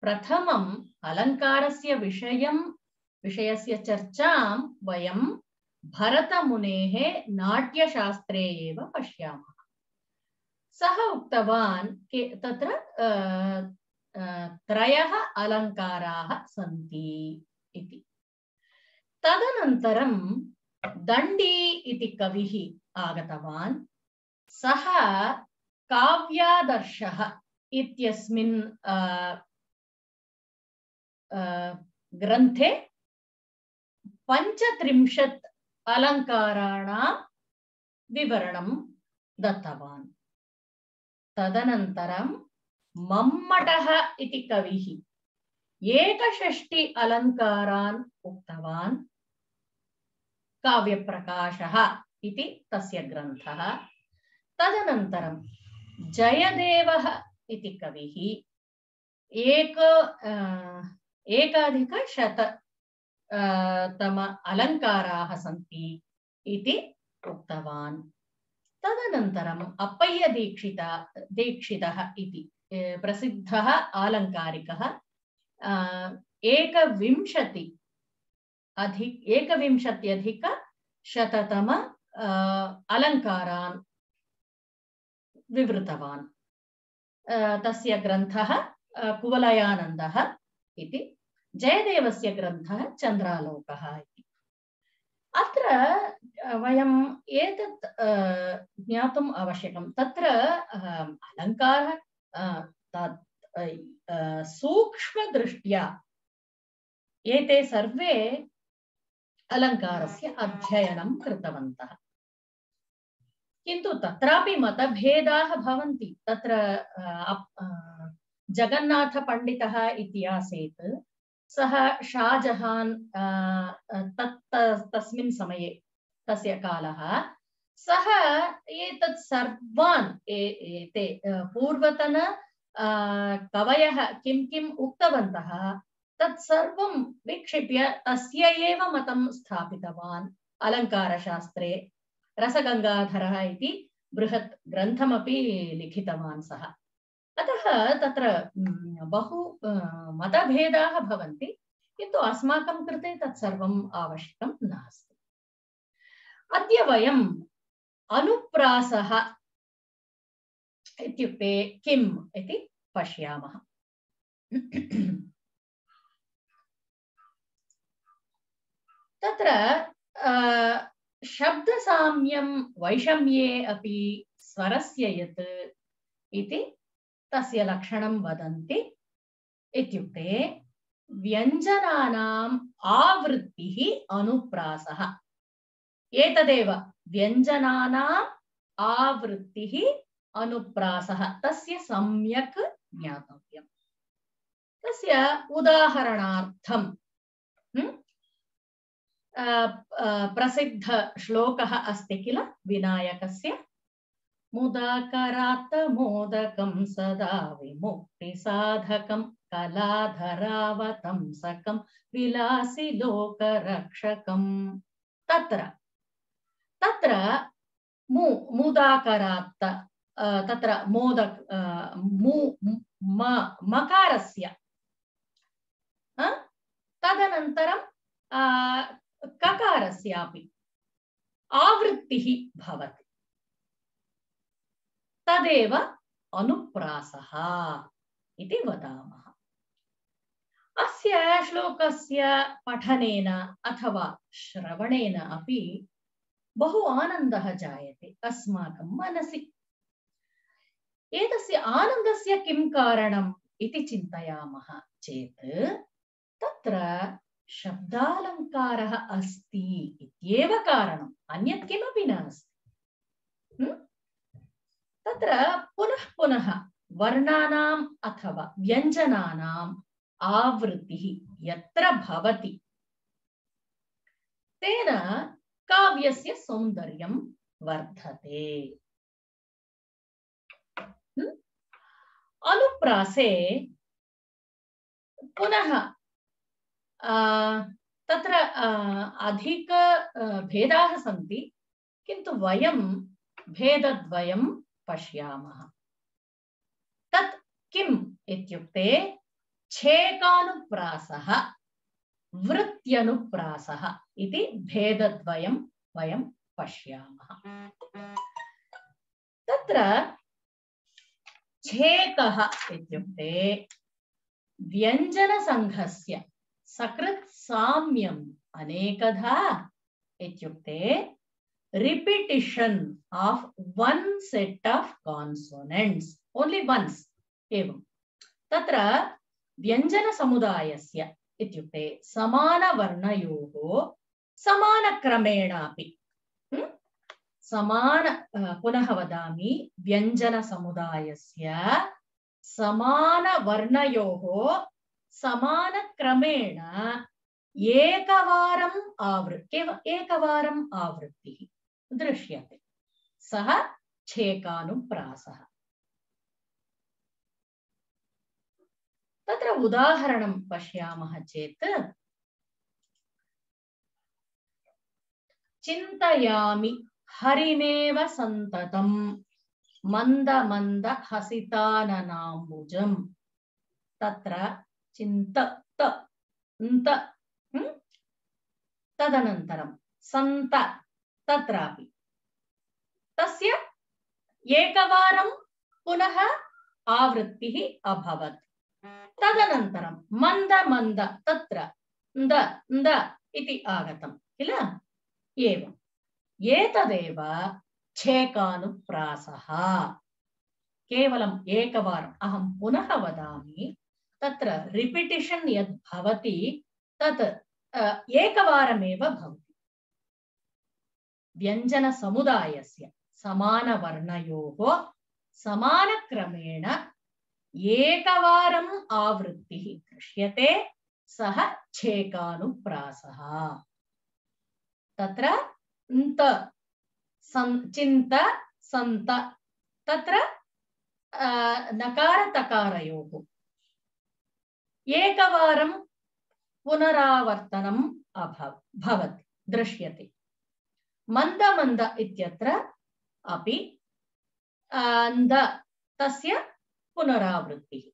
प्रथमम् अलङ्कारस्य विषयस्य चर्चां वयं भरतमुनेः नाट्यशास्त्रे एव पश्यामः। सः उक्तवान् तत्र त्रयः अलङ्काराः सन्ति इति। तदनन्तरं दण्डी इति कविः आगतवान्। सः काव्यादर्शः इत्यस्मिन् ग्रन्थे 35 अलङ्काराणां विवरणं दत्तवान्। तदनन्तरं मम्मटः इति कविः 61 अलङ्कारान् उक्तवान्। काव्यप्रकाशः इति तस्य ग्रन्थः। तदनन्तरं जयदेवः इति कविः 1,100 अलङ्काराः सन्ति इति उक्तवान्। तदनन्तरम् अप्पय्य दीक्षितः इति प्रसिद्धः आलङ्कारिकः 1,020,100 अलङ्कारान् विवृतवान्। तस्य ग्रन्थः कुवलयानन्दः इति। जयदेवस्य ग्रन्थः चन्द्रालोकः इति। अत्र वयं एतत् ज्ञातुम् आवश्यकं। तत्र अलङ्कारः सूक्ष्मदृष्ट्या एते सर्वे अलङ्कारस्य अध्ययनं कृतवन्तः। किन्तु तत्रापि मतभेदाः भवन्ति। तत्र जगन्नाथपण्डितः इति आसीत्। सः शाहजहान् तस्मिन् समये तस्य कालः। सः एतत् सर्वान् एते पूर्वतन कवयः किं किम् उक्तवन्तः तत् सर्वं विक्षिप्य तस्य एव मतं स्थापितवान् अलङ्कारशास्त्रे। रसगङ्गाधरः इति बृहत् ग्रन्थमपि लिखितवान् सः। अतः तत्र बहु मतभेदाः भवन्ति, किन्तु अस्माकं कृते तत् सर्वम् आवश्यकं नास्ति। अद्य वयम् अनुप्रासः इत्युक्ते किम् इति पश्यामः। तत्र शब्दसाम्यं वैषम्ये अपि स्वरस्य यत् इति तस्य लक्षणं वदन्ति। इत्युक्ते व्यञ्जनानाम् आवृत्तिः अनुप्रासः। एतदेव व्यञ्जनानाम् आवृत्तिः अनुप्रासः। तस्य सम्यक् ज्ञातव्यम्। तस्य उदाहरणार्थं प्रसिद्ध श्लोकः अस्ति किल विनायकस्य मुदाकरात् मोदकं सदा विमुक्तिसाधकं कलाधरावतंसकं विलासि लोकरक्षकं तत्र तत्र मुदाकरात् तत्र मोदक मकारस्य तदनन्तरं ककारस्यापि आवृत्तिः भवति तदेव अनुप्रासः इति वदामः। अस्य श्लोकस्य पठनेन अथवा श्रवणेन अपि बहु आनन्दः जायते अस्माकं मनसि। एतस्य आनन्दस्य किं कारणम् इति चिन्तयामः चेत् तत्र शब्दालङ्कारः अस्ति इत्येव कारणम्, अन्यत् किमपि नास्ति। तत्र पुनः पुनः वर्णानाम् अथवा व्यञ्जनानाम् आवृत्तिः यत्र भवति तेन काव्यस्य सौन्दर्यं वर्धते। अनुप्रासे पुनः तत्र अधिक भेदाः सन्ति, किन्तु वयं भेदद्वयं पश्यामः। तत् किम् इत्युक्ते छेकानुप्रासः वृत्त्यनुप्रासः इति भेदद्वयं वयं पश्यामः। तत्र छेकः इत्युक्ते व्यञ्जनसङ्घस्य सकृत् साम्यम् अनेकधा इत्युक्ते repetition of one set of consonants only once एवं। तत्र व्यञ्जनसमुदायस्य इत्युक्ते समानवर्णयोः समानक्रमेणापि पुनः वदामि, व्यञ्जनसमुदायस्य समानवर्णयोः समानक्रमेण एकवारम् आवृत्तिः दृश्यते, सः छेकानुप्रासः। तत्र उदाहरणं पश्यामः चेत् चिन्तयामि हरिमेव सन्ततं मंद मंद हसिताननाम्बुजं। तत्र चिन्त तदनन्तरं सन्त तत्रापि तस्य एकवारं पुनः आवृत्तिः अभवत्। तदनन्तरं मंद मंद तत्र न्द न्द इति आगतं किल। एवम् एतदेव छेकानुप्रासः। केवलम् एकवारम्, अहं पुनः वदामि, तत्र रिपिटिशन् यद् भवति तत् एकवारमेव भवति। व्यञ्जनसमुदायस्य समानवर्णयोः समानक्रमेण एकवारम् आवृत्तिः दृश्यते, सः छेकानुप्रासः। तत्र न्त चिन्त सन्त तत्र नकार तकारयोः एकवारं पुनरावर्तनम् भवति दृश्यते। मंद मंद इत्यत्र अपि न्द तस्य पुनरावृत्तिः।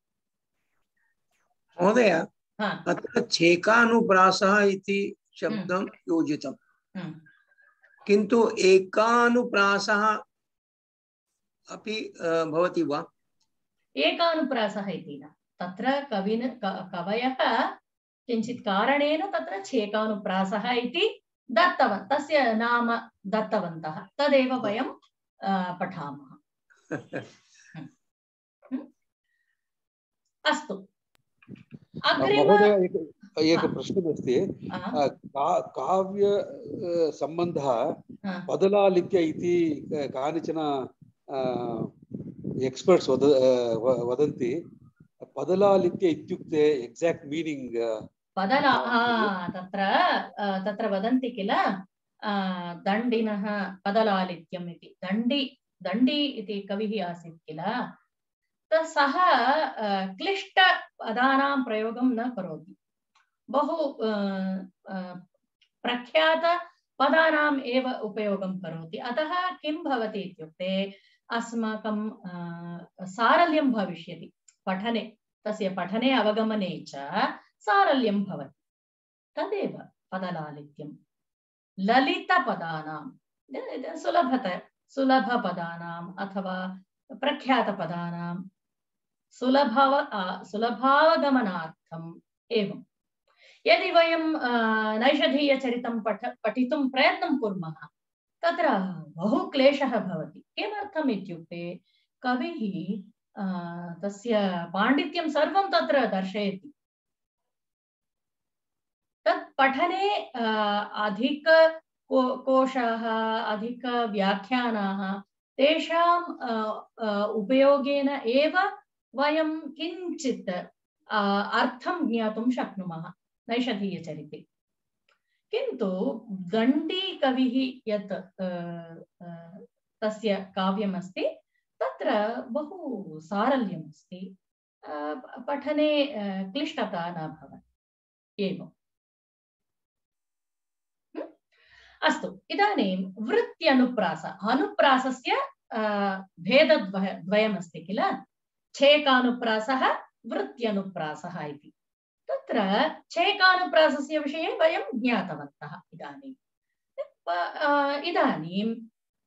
महोदय, अत्र छेकानुप्रासः इति शब्दं योजितम्, किन्तु एकानुप्रासः अपि भवति वा? एकानुप्रासः इति न, तत्र कवयः किञ्चित् कारणेन तत्र छेकानुप्रासः इति दत्तवन्तः, तस्य नाम दत्तवन्तः, तदेव वयं पठामः। अस्तु, महोदय एक प्रश्नमस्ति। काव्य सम्बन्धः बदलालित्य इति कानिचन एक्स्पर्ट्स् वदन्ति। पदलालित्य इत्युक्ते एक्साक्ट् मीनिंग पदला तत्र वदन्ति किल दण्डिनः पदलालित्यम् इति दण्डी इति कविः आसीत् किल सः क्लिष्टपदानां प्रयोगं न करोति बहु प्रख्यातपदानाम् एव उपयोगं करोति अतः किं भवति इत्युक्ते अस्माकं सारल्यं भविष्यति पठने तस्य पठने अवगमने च सारल्यं भवति तदेव पदलालित्यं ललितपदानां सुलभपदानाम् अथवा प्रख्यातपदानां सुलभावगमनार्थम् एवं यदि वयं नैषधीयचरितं पठितुं प्रयत्नं कुर्मः तत्र बहु क्लेशः भवति किमर्थम् इत्युक्ते कविः तस्य पाण्डित्यं सर्वं तत्र दर्शयति तत् पठने अधिक कोशाः अधिक व्याख्यानाः तेषां उपयोगेन एव वयं किञ्चित् अर्थं ज्ञातुं शक्नुमः नैषधीयचरिते किन्तु दण्डी कविः यत् तस्य काव्यमस्ति तत्र बहु सारल्यम् अस्ति पठने क्लिष्टता न भवति एवम् अस्तु इदानीं वृत्त्यनुप्रास अनुप्रासस्य भेदद्वयमस्ति किल छेकानुप्रासः वृत्त्यनुप्रासः इति तत्र छेकानुप्रासस्य विषये वयं ज्ञातवन्तः इदानीं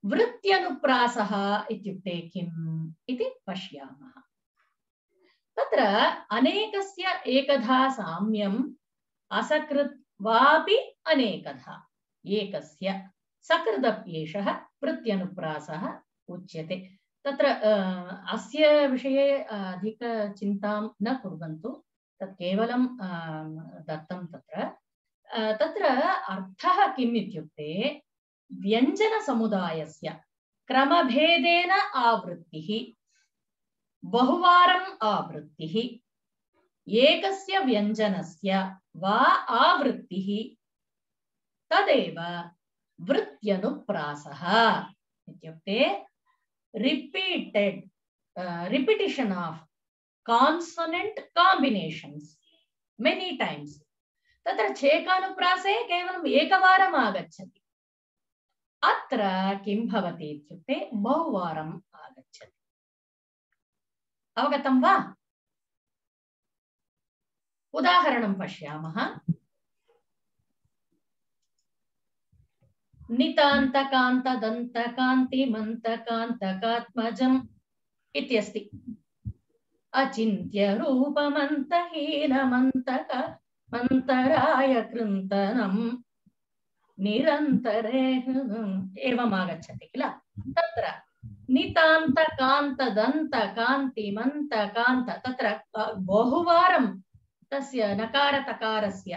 वृत्त्यनुप्रासः इत्युक्ते किम् इति पश्यामः तत्र अनेकस्य एकधा साम्यम् असकृत् वापि अनेकधा एकस्य सकृदप्येषः वृत्त्यनुप्रासः उच्यते तत्र अस्य विषये अधिकचिन्तां न कुर्वन्तु तत् केवलं दत्तं तत्र अर्थः किम् इत्युक्ते व्यञ्जनसमुदायस्य क्रमभेदेन आवृत्तिः बहुवारम् आवृत्तिः एकस्य व्यञ्जनस्य वा आवृत्तिः तदेव वृत्त्यनुप्रासः इत्युक्ते repetition of consonant combinations many times तत्र छेकानुप्रासे केवलम् एकवारम् आगच्छति अत्र किं भवति इत्युक्ते बहुवारम् आगच्छति अवगतं वा उदाहरणं पश्यामः नितान्तकान्तदन्तकान्तिमन्तकान्तकात्मजम् इत्यस्ति अचिन्त्य रूपमन्तहीनमन्तक मन्तराय कृन्तनम् निरन्तरे एवम् आगच्छति किल तत्र नितान्तकान्तदन्तकान्तिमन्तकान्त तत्र बहुवारं तस्य नकारतकारस्य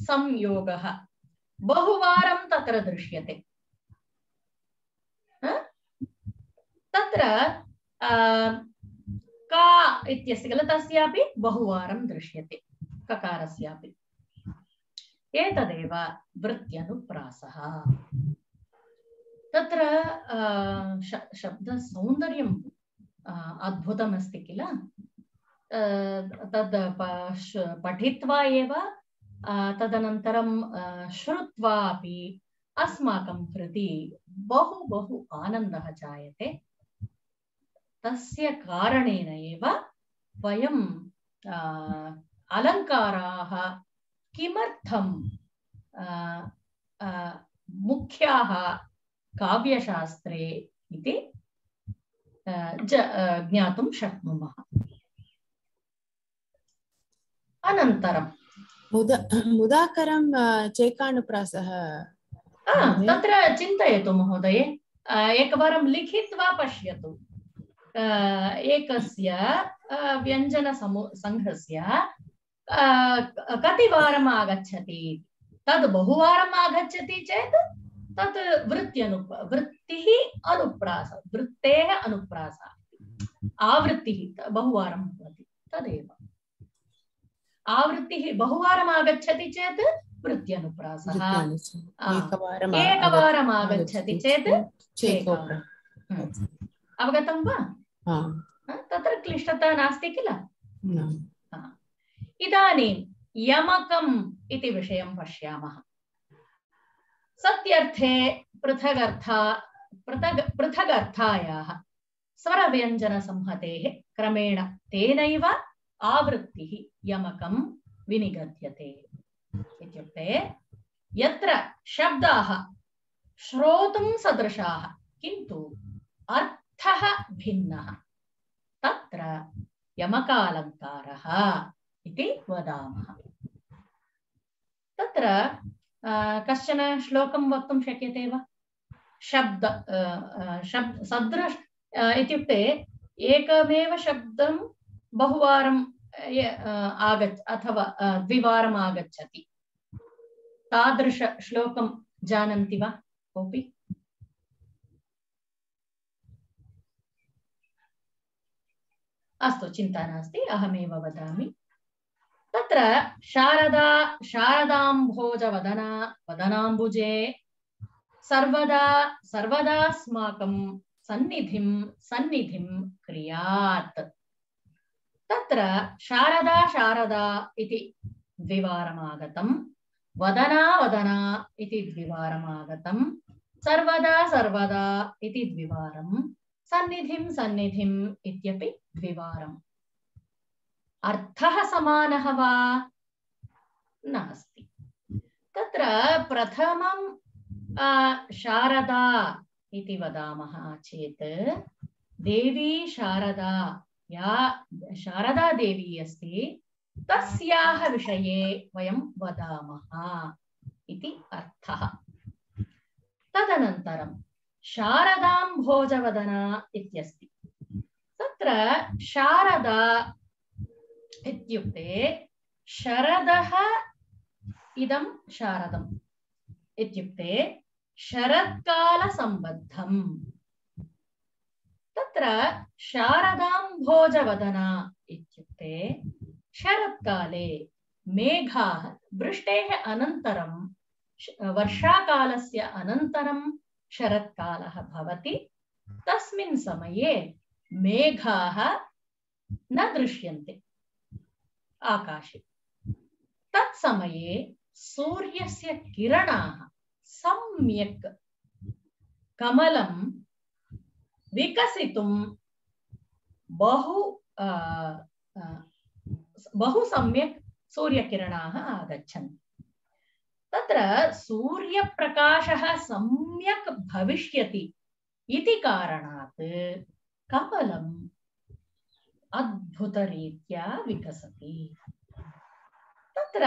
संयोगः बहुवारं तत्र दृश्यते तत्र का इत्यस्य किल तस्यापि बहुवारं दृश्यते ककारस्यापि एतदेव वृत्त्यनुप्रासः तत्र शब्दसौन्दर्यम् अद्भुतमस्ति किल तद् पठित्वा एव तदनन्तरं श्रुत्वा अपि अस्माकं कृते बहु बहु आनन्दः जायते तस्य कारणेन एव वयं अलङ्काराः किमर्थं मुख्याः काव्यशास्त्रे इति ज्ञातुं शक्नुमः अनन्तरं मुदाकरं चेकानुप्रासः तत्र चिन्तयतु महोदये एकवारं लिखित्वा पश्यतु एकस्य व्यञ्जनसङ्घस्य कतिवारम् आगच्छति तद् बहुवारम् आगच्छति चेत् तत् वृत्तेः अनुप्रासः आवृत्तिः बहुवारं भवति तदेव आवृत्तिः बहुवारम् आगच्छति चेत् वृत्यनुप्रासः एकवारम् आगच्छति चेत् चेका अवगतं वा तत्र क्लिष्टता नास्ति किल इदानीं यमकम् इति विषयं पश्यामः सत्यर्थे पृथगर्थायाः स्वरव्यञ्जनसंहतेः क्रमेण तेनैव आवृत्तिः यमकं विनिगद्यते इत्युक्ते यत्र शब्दाः श्रोतुं सदृशाः किन्तु अर्थः भिन्नः तत्र यमकालङ्कारः इति वदामः तत्र कश्चन श्लोकं वक्तुं शक्यते वा शब्द सदृश इत्युक्ते एकमेव शब्दं बहुवारं अथवा द्विवारम् आगच्छति तादृश श्लोकं जानन्ति वा कोऽपि अस्तु चिन्ता नास्ति अहमेव वदामि तत्र शारदा शारदाम्भोजवदना वदनाम्बुजे सर्वदास्माकं सन्निधिं क्रियात् तत्र शारदा इति द्विवारमागतं वदना इति द्विवारमागतं सर्वदा इति द्विवारं सन्निधिं इत्यपि द्विवारम् अर्थः समानः वा नास्ति तत्र प्रथमं शारदा इति वदामः चेत् देवी शारदा या शारदा देवी अस्ति तस्याः विषये वयं वदामः इति अर्थः तदनन्तरं शारदाम्भोजवदना इत्यस्ति तत्र शारदा इत्युक्ते शरदः इदं शारदम् इत्युक्ते शरत्कालसम्बद्धम् तत्र शारदाम्भोजवदना इत्युक्ते शरत्काले मेघाः वृष्टेः अनन्तरं वर्षाकालस्य अनन्तरं शरत्कालः भवति तस्मिन् समये मेघाः न दृश्यन्ते आकाशे तत्समये सूर्यस्य किरणाः सम्यक् कमलं विकसितुं बहु सम्यक् सूर्यकिरणाः आगच्छन्ति तत्र सूर्यप्रकाशः सम्यक् भविष्यति इति कारणात् कमलम् अद्भुतरीत्या विकसति तत्र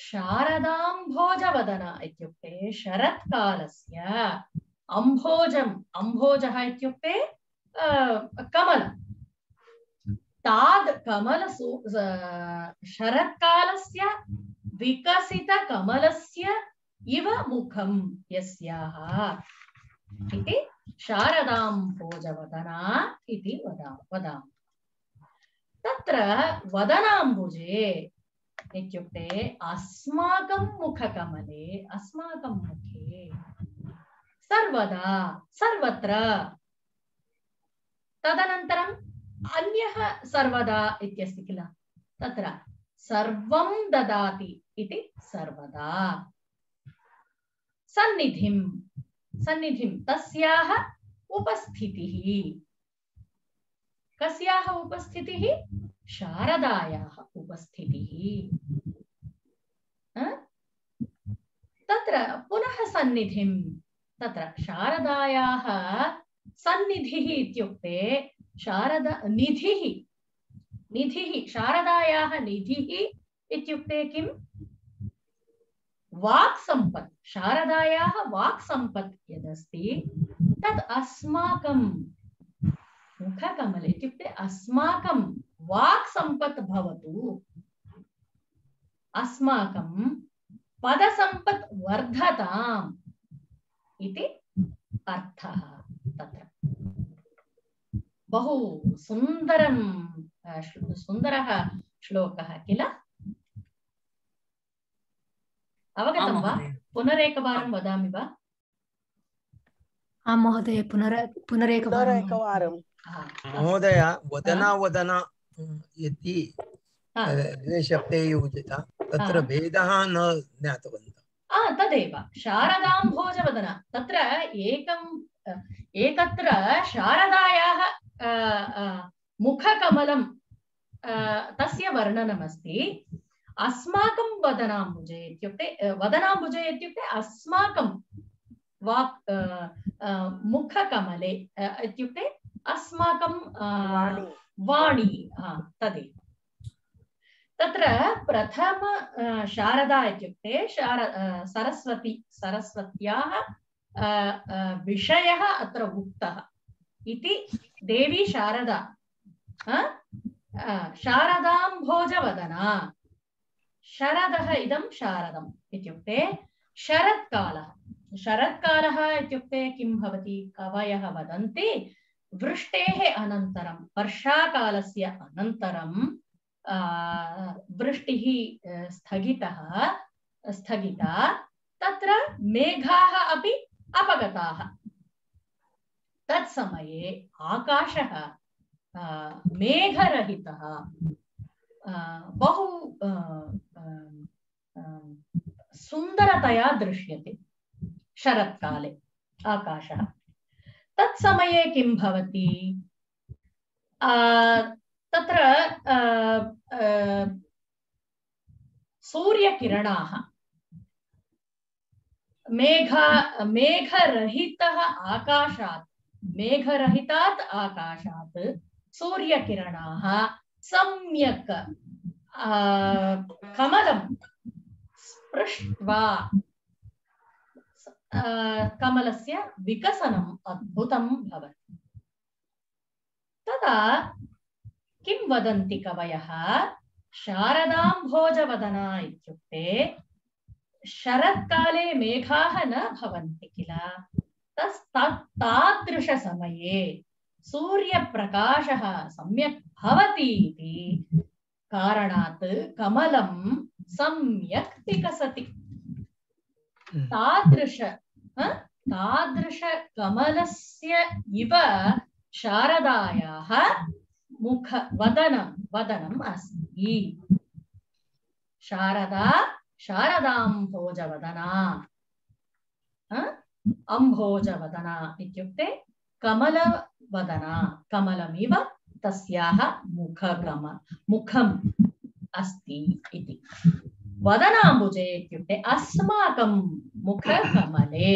शारदाम्भोजवदना इत्युक्ते शरत्कालस्य अम्भोजः इत्युक्ते कमलं ताद् शरत्कालस्य विकसितकमलस्य इव मुखं यस्याः इति शारदाम्भोजवदना इति वदामः तत्र वदनाम्बुजे इत्युक्ते अस्माकं मुखकमले अस्माकं मुखे सर्वदा सर्वत्र तदनन्तरम् अन्यः सर्वदा इत्यस्ति किल तत्र सर्वं ददाति इति सर्वदा सन्निधिं तस्याः उपस्थितिः कस्याः उपस्थितिः शारदायाः उपस्थितिः तत्र पुनः सन्निधिं तत्र शारदायाः सन्निधिः इत्युक्ते निधिः शारदायाः निधिः इत्युक्ते किं वाक्सम्पत् शारदायाः वाक्सम्पत् यदस्ति तद् अस्माकं मुखकमले इत्युक्ते अस्माकं वाक्सम्पत् भवतु अस्माकं पदसम्पत् वर्धताम् इति अर्थः तत्र बहु सुन्दरं सुन्दरः श्लोकः किल? अवगतं वा? पुनरेकवारं वदामि वा? आं महोदय, पुनरेकवारं। महोदय, वदना वदना इति शब्दे योजिता, तत्र भेदः न ज्ञातवन्तः। तदेव शारदाम्भोजवदना, तत्र एकत्र शारदायाः मुखकमलं तस्य वर्णनमस्ति। अस्माकं वदनाम्बुजे इत्युक्ते अस्माकं वाक् मुखकमले इत्युक्ते अस्माकं वाणी, तदेव। तत्र प्रथम शारदा इत्युक्ते सरस्वत्याः विषयः अत्र उक्तः इति। देवी शारदा शारदाम्भोजवदना, शरदः इदं शारदम् इत्युक्ते शरत्कालः। शरत्कालः इत्युक्ते किं भवति? कवयः वदन्ति वृष्टेः अनन्तरं, वर्षाकालस्य अनन्तरं वृष्टिः स्थगिता, तत्र मेघाः अपि अपगताः। तत्समये आकाशः मेघरहितः बहु सुन्दरतया दृश्यते। शरत्काले आकाशः, तत्समये किं भवति? तत्र सूर्यकिरणाः मेघरहितात् आकाशात् सूर्यकिरणाः सम्यक् कमलं स्पृष्ट्वा कमलस्य विकसनम् अद्भुतं भवति। तदा किं वदन्ति कवयः? शारदाम्भोजवदना इत्युक्ते शरत्काले मेघाः न भवन्ति किल, तादृशसमये सूर्यप्रकाशः सम्यक् भवति इति कारणात् कमलं सम्यक् विकसति। तादृश कमलस्य इव शारदायाः वदनम् अस्ति। शारदाम्भोजवदना, अम्भोजवदना इत्युक्ते कमलवदना, कमलमिव तस्याः मुखम् अस्ति इति। वदनाम्बुजे इत्युक्ते अस्माकं मुखकमले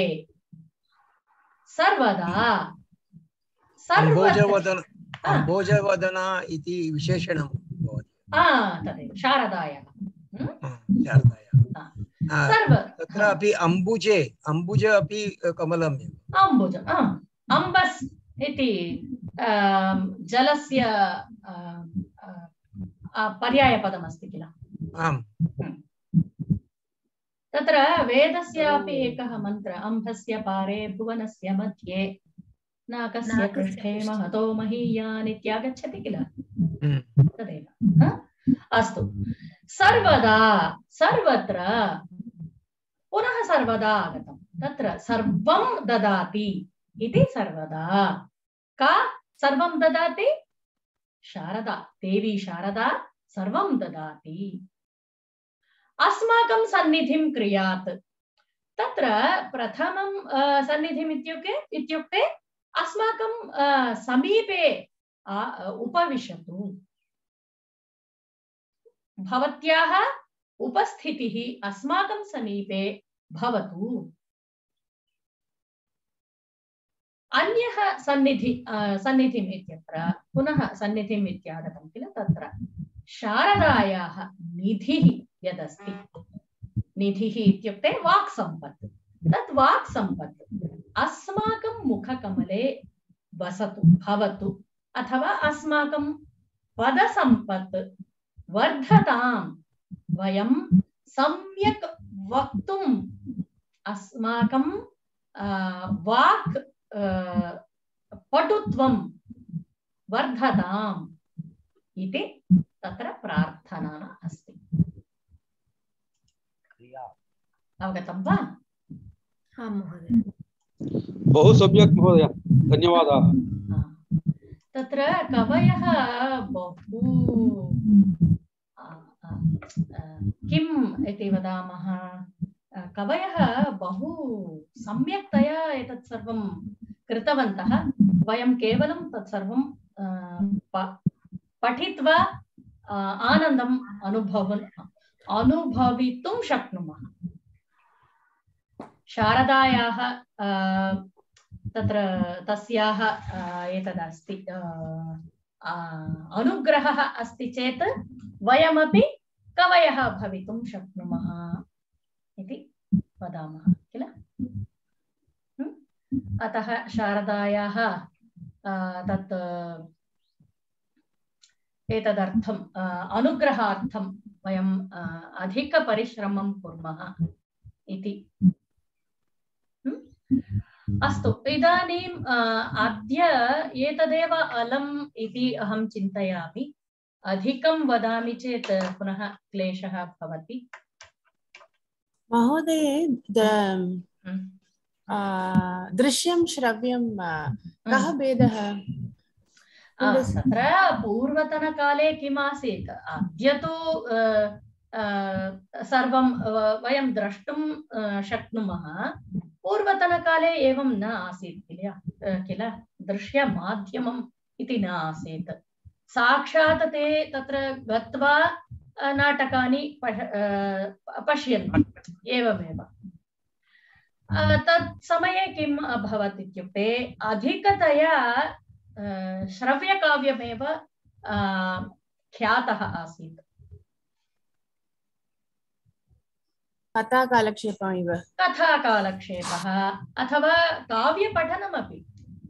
सर्वदा अम्भोजवदना इति विशेषणं भवति। तदेव शारदायाः। तत्रापि अम्बुजे अपि कमलमेव। अम्बस् इति जलस्य पर्यायपदमस्ति किल? आम्। तत्र वेदस्यापि एकः मन्त्र, अम्भस्य पारे भुवनस्य मध्ये नाकस्य पृष्ठे महतो महीयान् इत्यागच्छति किल? तदेव। अस्तु, सर्वदा सर्वत्र पुनः सर्वदा आगतं। तत्र सर्वं ददाति इति सर्वदा। का सर्वं ददाति? शारदा, देवी शारदा सर्वं ददाति। अस्माकं सन्निधिं क्रियात्। तत्र प्रथमं सन्निधिम् इत्युक्ते अस्माकं समीपे उपविशतु। भवत्याः उपस्थितिः अस्माकं समीपे भवतु। अन्यः सन्निधिम् इत्यत्र पुनः सन्निधिम् इत्यागतं किल? तत्र शारदायाः निधिः यदस्ति, निधिः इत्युक्ते वाक् सम्पत्। तत् वाक् सम्पत् अस्माकं मुखकमले वसतु, भवतु, अथवा अस्माकं पदसम्पत् वर्धताम्। वयं सम्यक् वक्तुम् अस्माकं वाक् पटुत्वं वर्धताम् इति तत्र प्रार्थना अस्ति। अवगतं वा? आं महोदय। बहु सम्यक् महोदय, धन्यवादाः। तत्र कवयः बहु किम् इति वदामः, कवयः बहु सम्यक्तया एतत् सर्वं कृतवन्तः। वयं केवलं तत् सर्वं पठित्वा आनन्दम् अनुभवितुं शक्नुमः। शारदायाः तत्र तस्याः एतदस्ति अनुग्रहः अस्ति चेत् वयमपि कवयः भवितुं शक्नुमः इति वदामः किल। अतः शारदायाः तत् एतदर्थम् अनुग्रहार्थं वयम् अधिकपरिश्रमं कुर्मः इति। अस्तु, इदानीम् अद्य एतदेव अलम् इति अहं चिन्तयामि। अधिकं वदामि चेत् पुनः क्लेशः भवति। महोदय, दृश्यं श्रव्यं कः भेदः? तत्र पूर्वतनकाले किम् आसीत्, अद्य तु सर्वं वयं द्रष्टुं शक्नुमः। पूर्वतनकाले एवं न आसीत् किल। दृश्यमाध्यमम् इति न आसीत्। साक्षात् ते तत्र गत्वा नाटकानि पश्यन्ति एवमेव। तत् समये किम् अभवत् इत्युक्ते अधिकतया श्रव्यकाव्यमेव ख्यातः आसीत्। कथाकालक्षेपः इव। कथाकालक्षेपः अथवा काव्यपठनमपि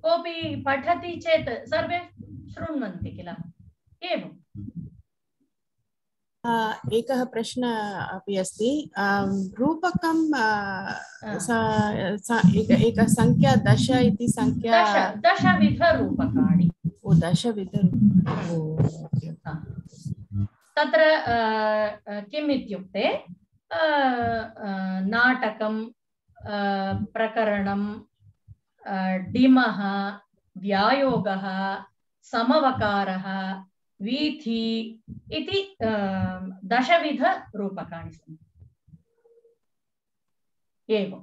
कोऽपि पठति चेत् सर्वे शृण्वन्ति किल। एवम्। एकः प्रश्नः अपि अस्ति। रूपकं एका संख्या 10 इति संख्या। दशविधरूपकाणि। दशविधरूपकाणि। तत्र किम् इत्युक्ते नाटकं, प्रकरणं, डिमः, व्यायोगः, समवकारः, वीथि इति दशविधरूपकाणि सन्ति। एवं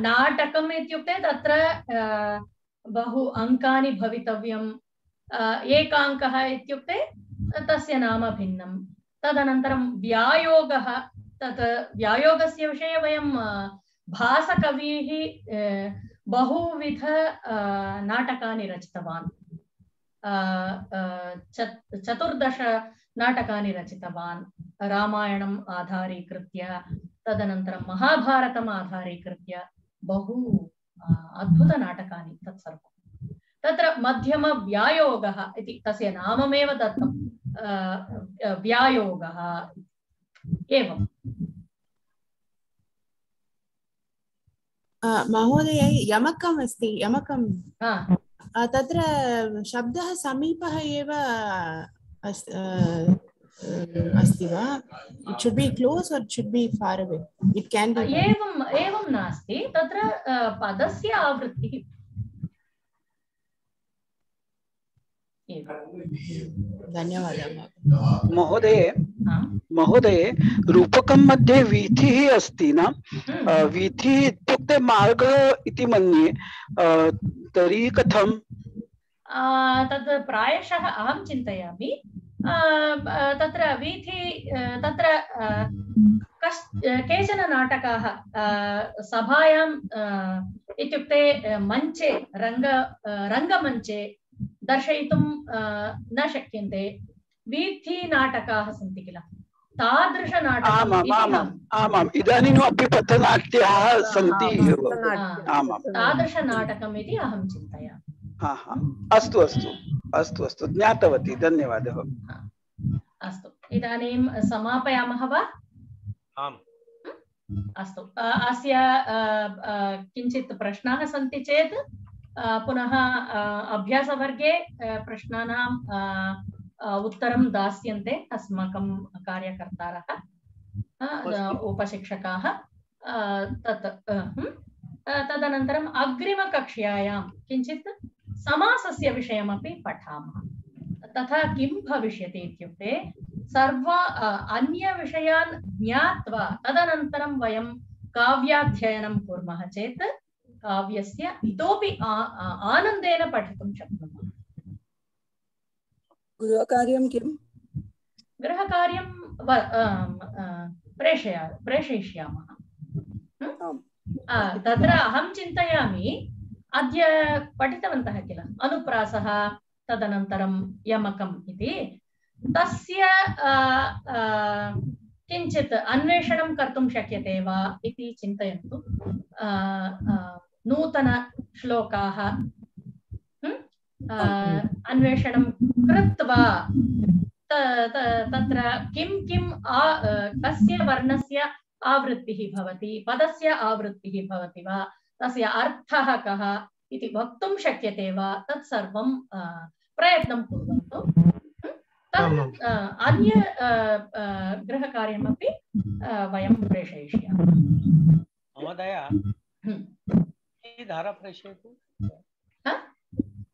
नाटकम् इत्युक्ते तत्र बहु अङ्कानि भवितव्यम्। एकाङ्कः इत्युक्ते तस्य नाम भिन्नं। तदनन्तरं व्यायोगः, तत् व्यायोगस्य विषये वयं भासकविः बहुविध नाटकानि रचितवान्। 14 नाटकानि रचितवान् रामायणम् आधारीकृत्य, तदनन्तरं महाभारतम् आधारीकृत्य। बहु अद्भुतनाटकानि तत्सर्वं। तत्र मध्यमव्यायोगः इति तस्य नाममेव दत्तं, व्यायोगः। एवं महोदय, यमकम् अस्ति। यमकं तत्र शब्दः समीपः एव अस्ति वा? It should be close or it should be far away? It can be. एवं नास्ति। तत्र पदस्य आवृत्तिः। धन्यवादः महोदय, रूपकं मध्ये वीथिः अस्ति न? वीथिः इत्युक्ते मार्गः इति मन्ये। तर्हि कथं? तद् प्रायशः अहं चिन्तयामि तत्र वीथि तत्र केचन नाटकाः सभायां इत्युक्ते मञ्चे रङ्गमञ्चे दर्शयितुं न शक्यन्ते। वीथि नाटकाः सन्ति किल, आमाम्, इदानीम् अपि पथनाट्याः सन्ति। तादृशनाटकम् इति अहं चिन्तयामि। अस्तु अस्तु अस्तु अस्तु, ज्ञातवती, धन्यवादः। अस्तु, इदानीं समापयामः वा? आम्। अस्तु, अस्य किञ्चित् प्रश्नाः सन्ति चेत् पुनः अभ्यासवर्गे प्रश्नानां उत्तरं दास्यन्ते अस्माकं कार्यकर्तारः उपशिक्षकाः तदनन्तरम् अग्रिमकक्ष्यायां किञ्चित् समासस्य विषयमपि पठामः। तथा किं भविष्यति इत्युक्ते सर्व अन्यविषयान् ज्ञात्वा तदनन्तरं वयं काव्याध्ययनं कुर्मः चेत् काव्यस्य इतोपि आनन्देन पठितुं शक्नुमः। गृहकार्यं किम्? गृहकार्यं प्रेषयिष्यामः। तत्र अहं चिन्तयामि अद्य पठितवन्तः किल अनुप्रासः तदनन्तरं यमकम् इति तस्य किञ्चित् अन्वेषणं कर्तुं शक्यते वा इति चिन्तयन्तु। नूतनश्लोकाः अन्वेषणं कृत्वा तत्र किं किं कस्य वर्णस्य आवृत्तिः भवति, पदस्य आवृत्तिः भवति वा, तस्य अर्थः कः इति वक्तुं शक्यते वा, तत् सर्वं प्रयत्नं कुर्वन्तु। अन्य गृहकार्यमपि वयं प्रेषयिष्यामः। महोदय धारा प्रेषयतु।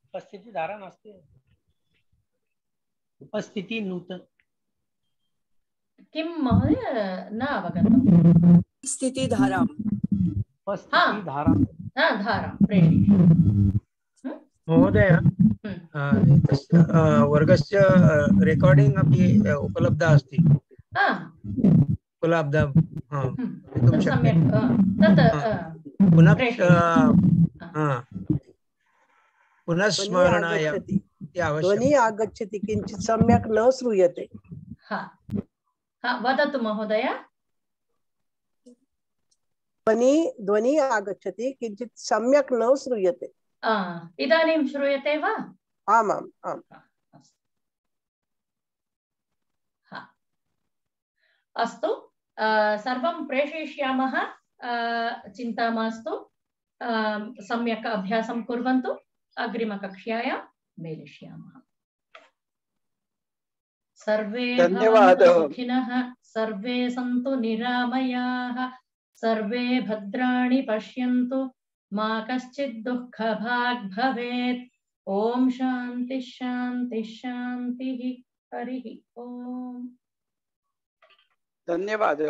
उपस्थिति धारा नास्ति, उपस्थिति नूतन किं महोदय न अवगतम्। स्थिति धारां धारां प्रेषयिष्यामि। महोदय वर्गस्य रेकार्डिंग अपि उपलब्धा अस्ति। उपलब्धा सम्यक् पुनः पुनः स्मरणाय ध्वनिः आगच्छति किञ्चित् सम्यक् न श्रूयते। वदतु महोदय। ध्वनिः आगच्छति किञ्चित् सम्यक् न श्रूयते। इदानीं श्रूयते वा? आमाम् आम्। अस्तु, सर्वं प्रेषयिष्यामः, चिन्ता मास्तु। सम्यक् अभ्यासं कुर्वन्तु। अग्रिमकक्ष्यायां मेलिष्यामः। सर्वे भवन्तु सुखिनः, सर्वे सन्तु निरामयाः, सर्वे भद्राणि पश्यन्तु, मा कश्चित् दुःखभाग् भवेत्। ओम शांति शांति शांति। हरि ओम। धन्यवाद।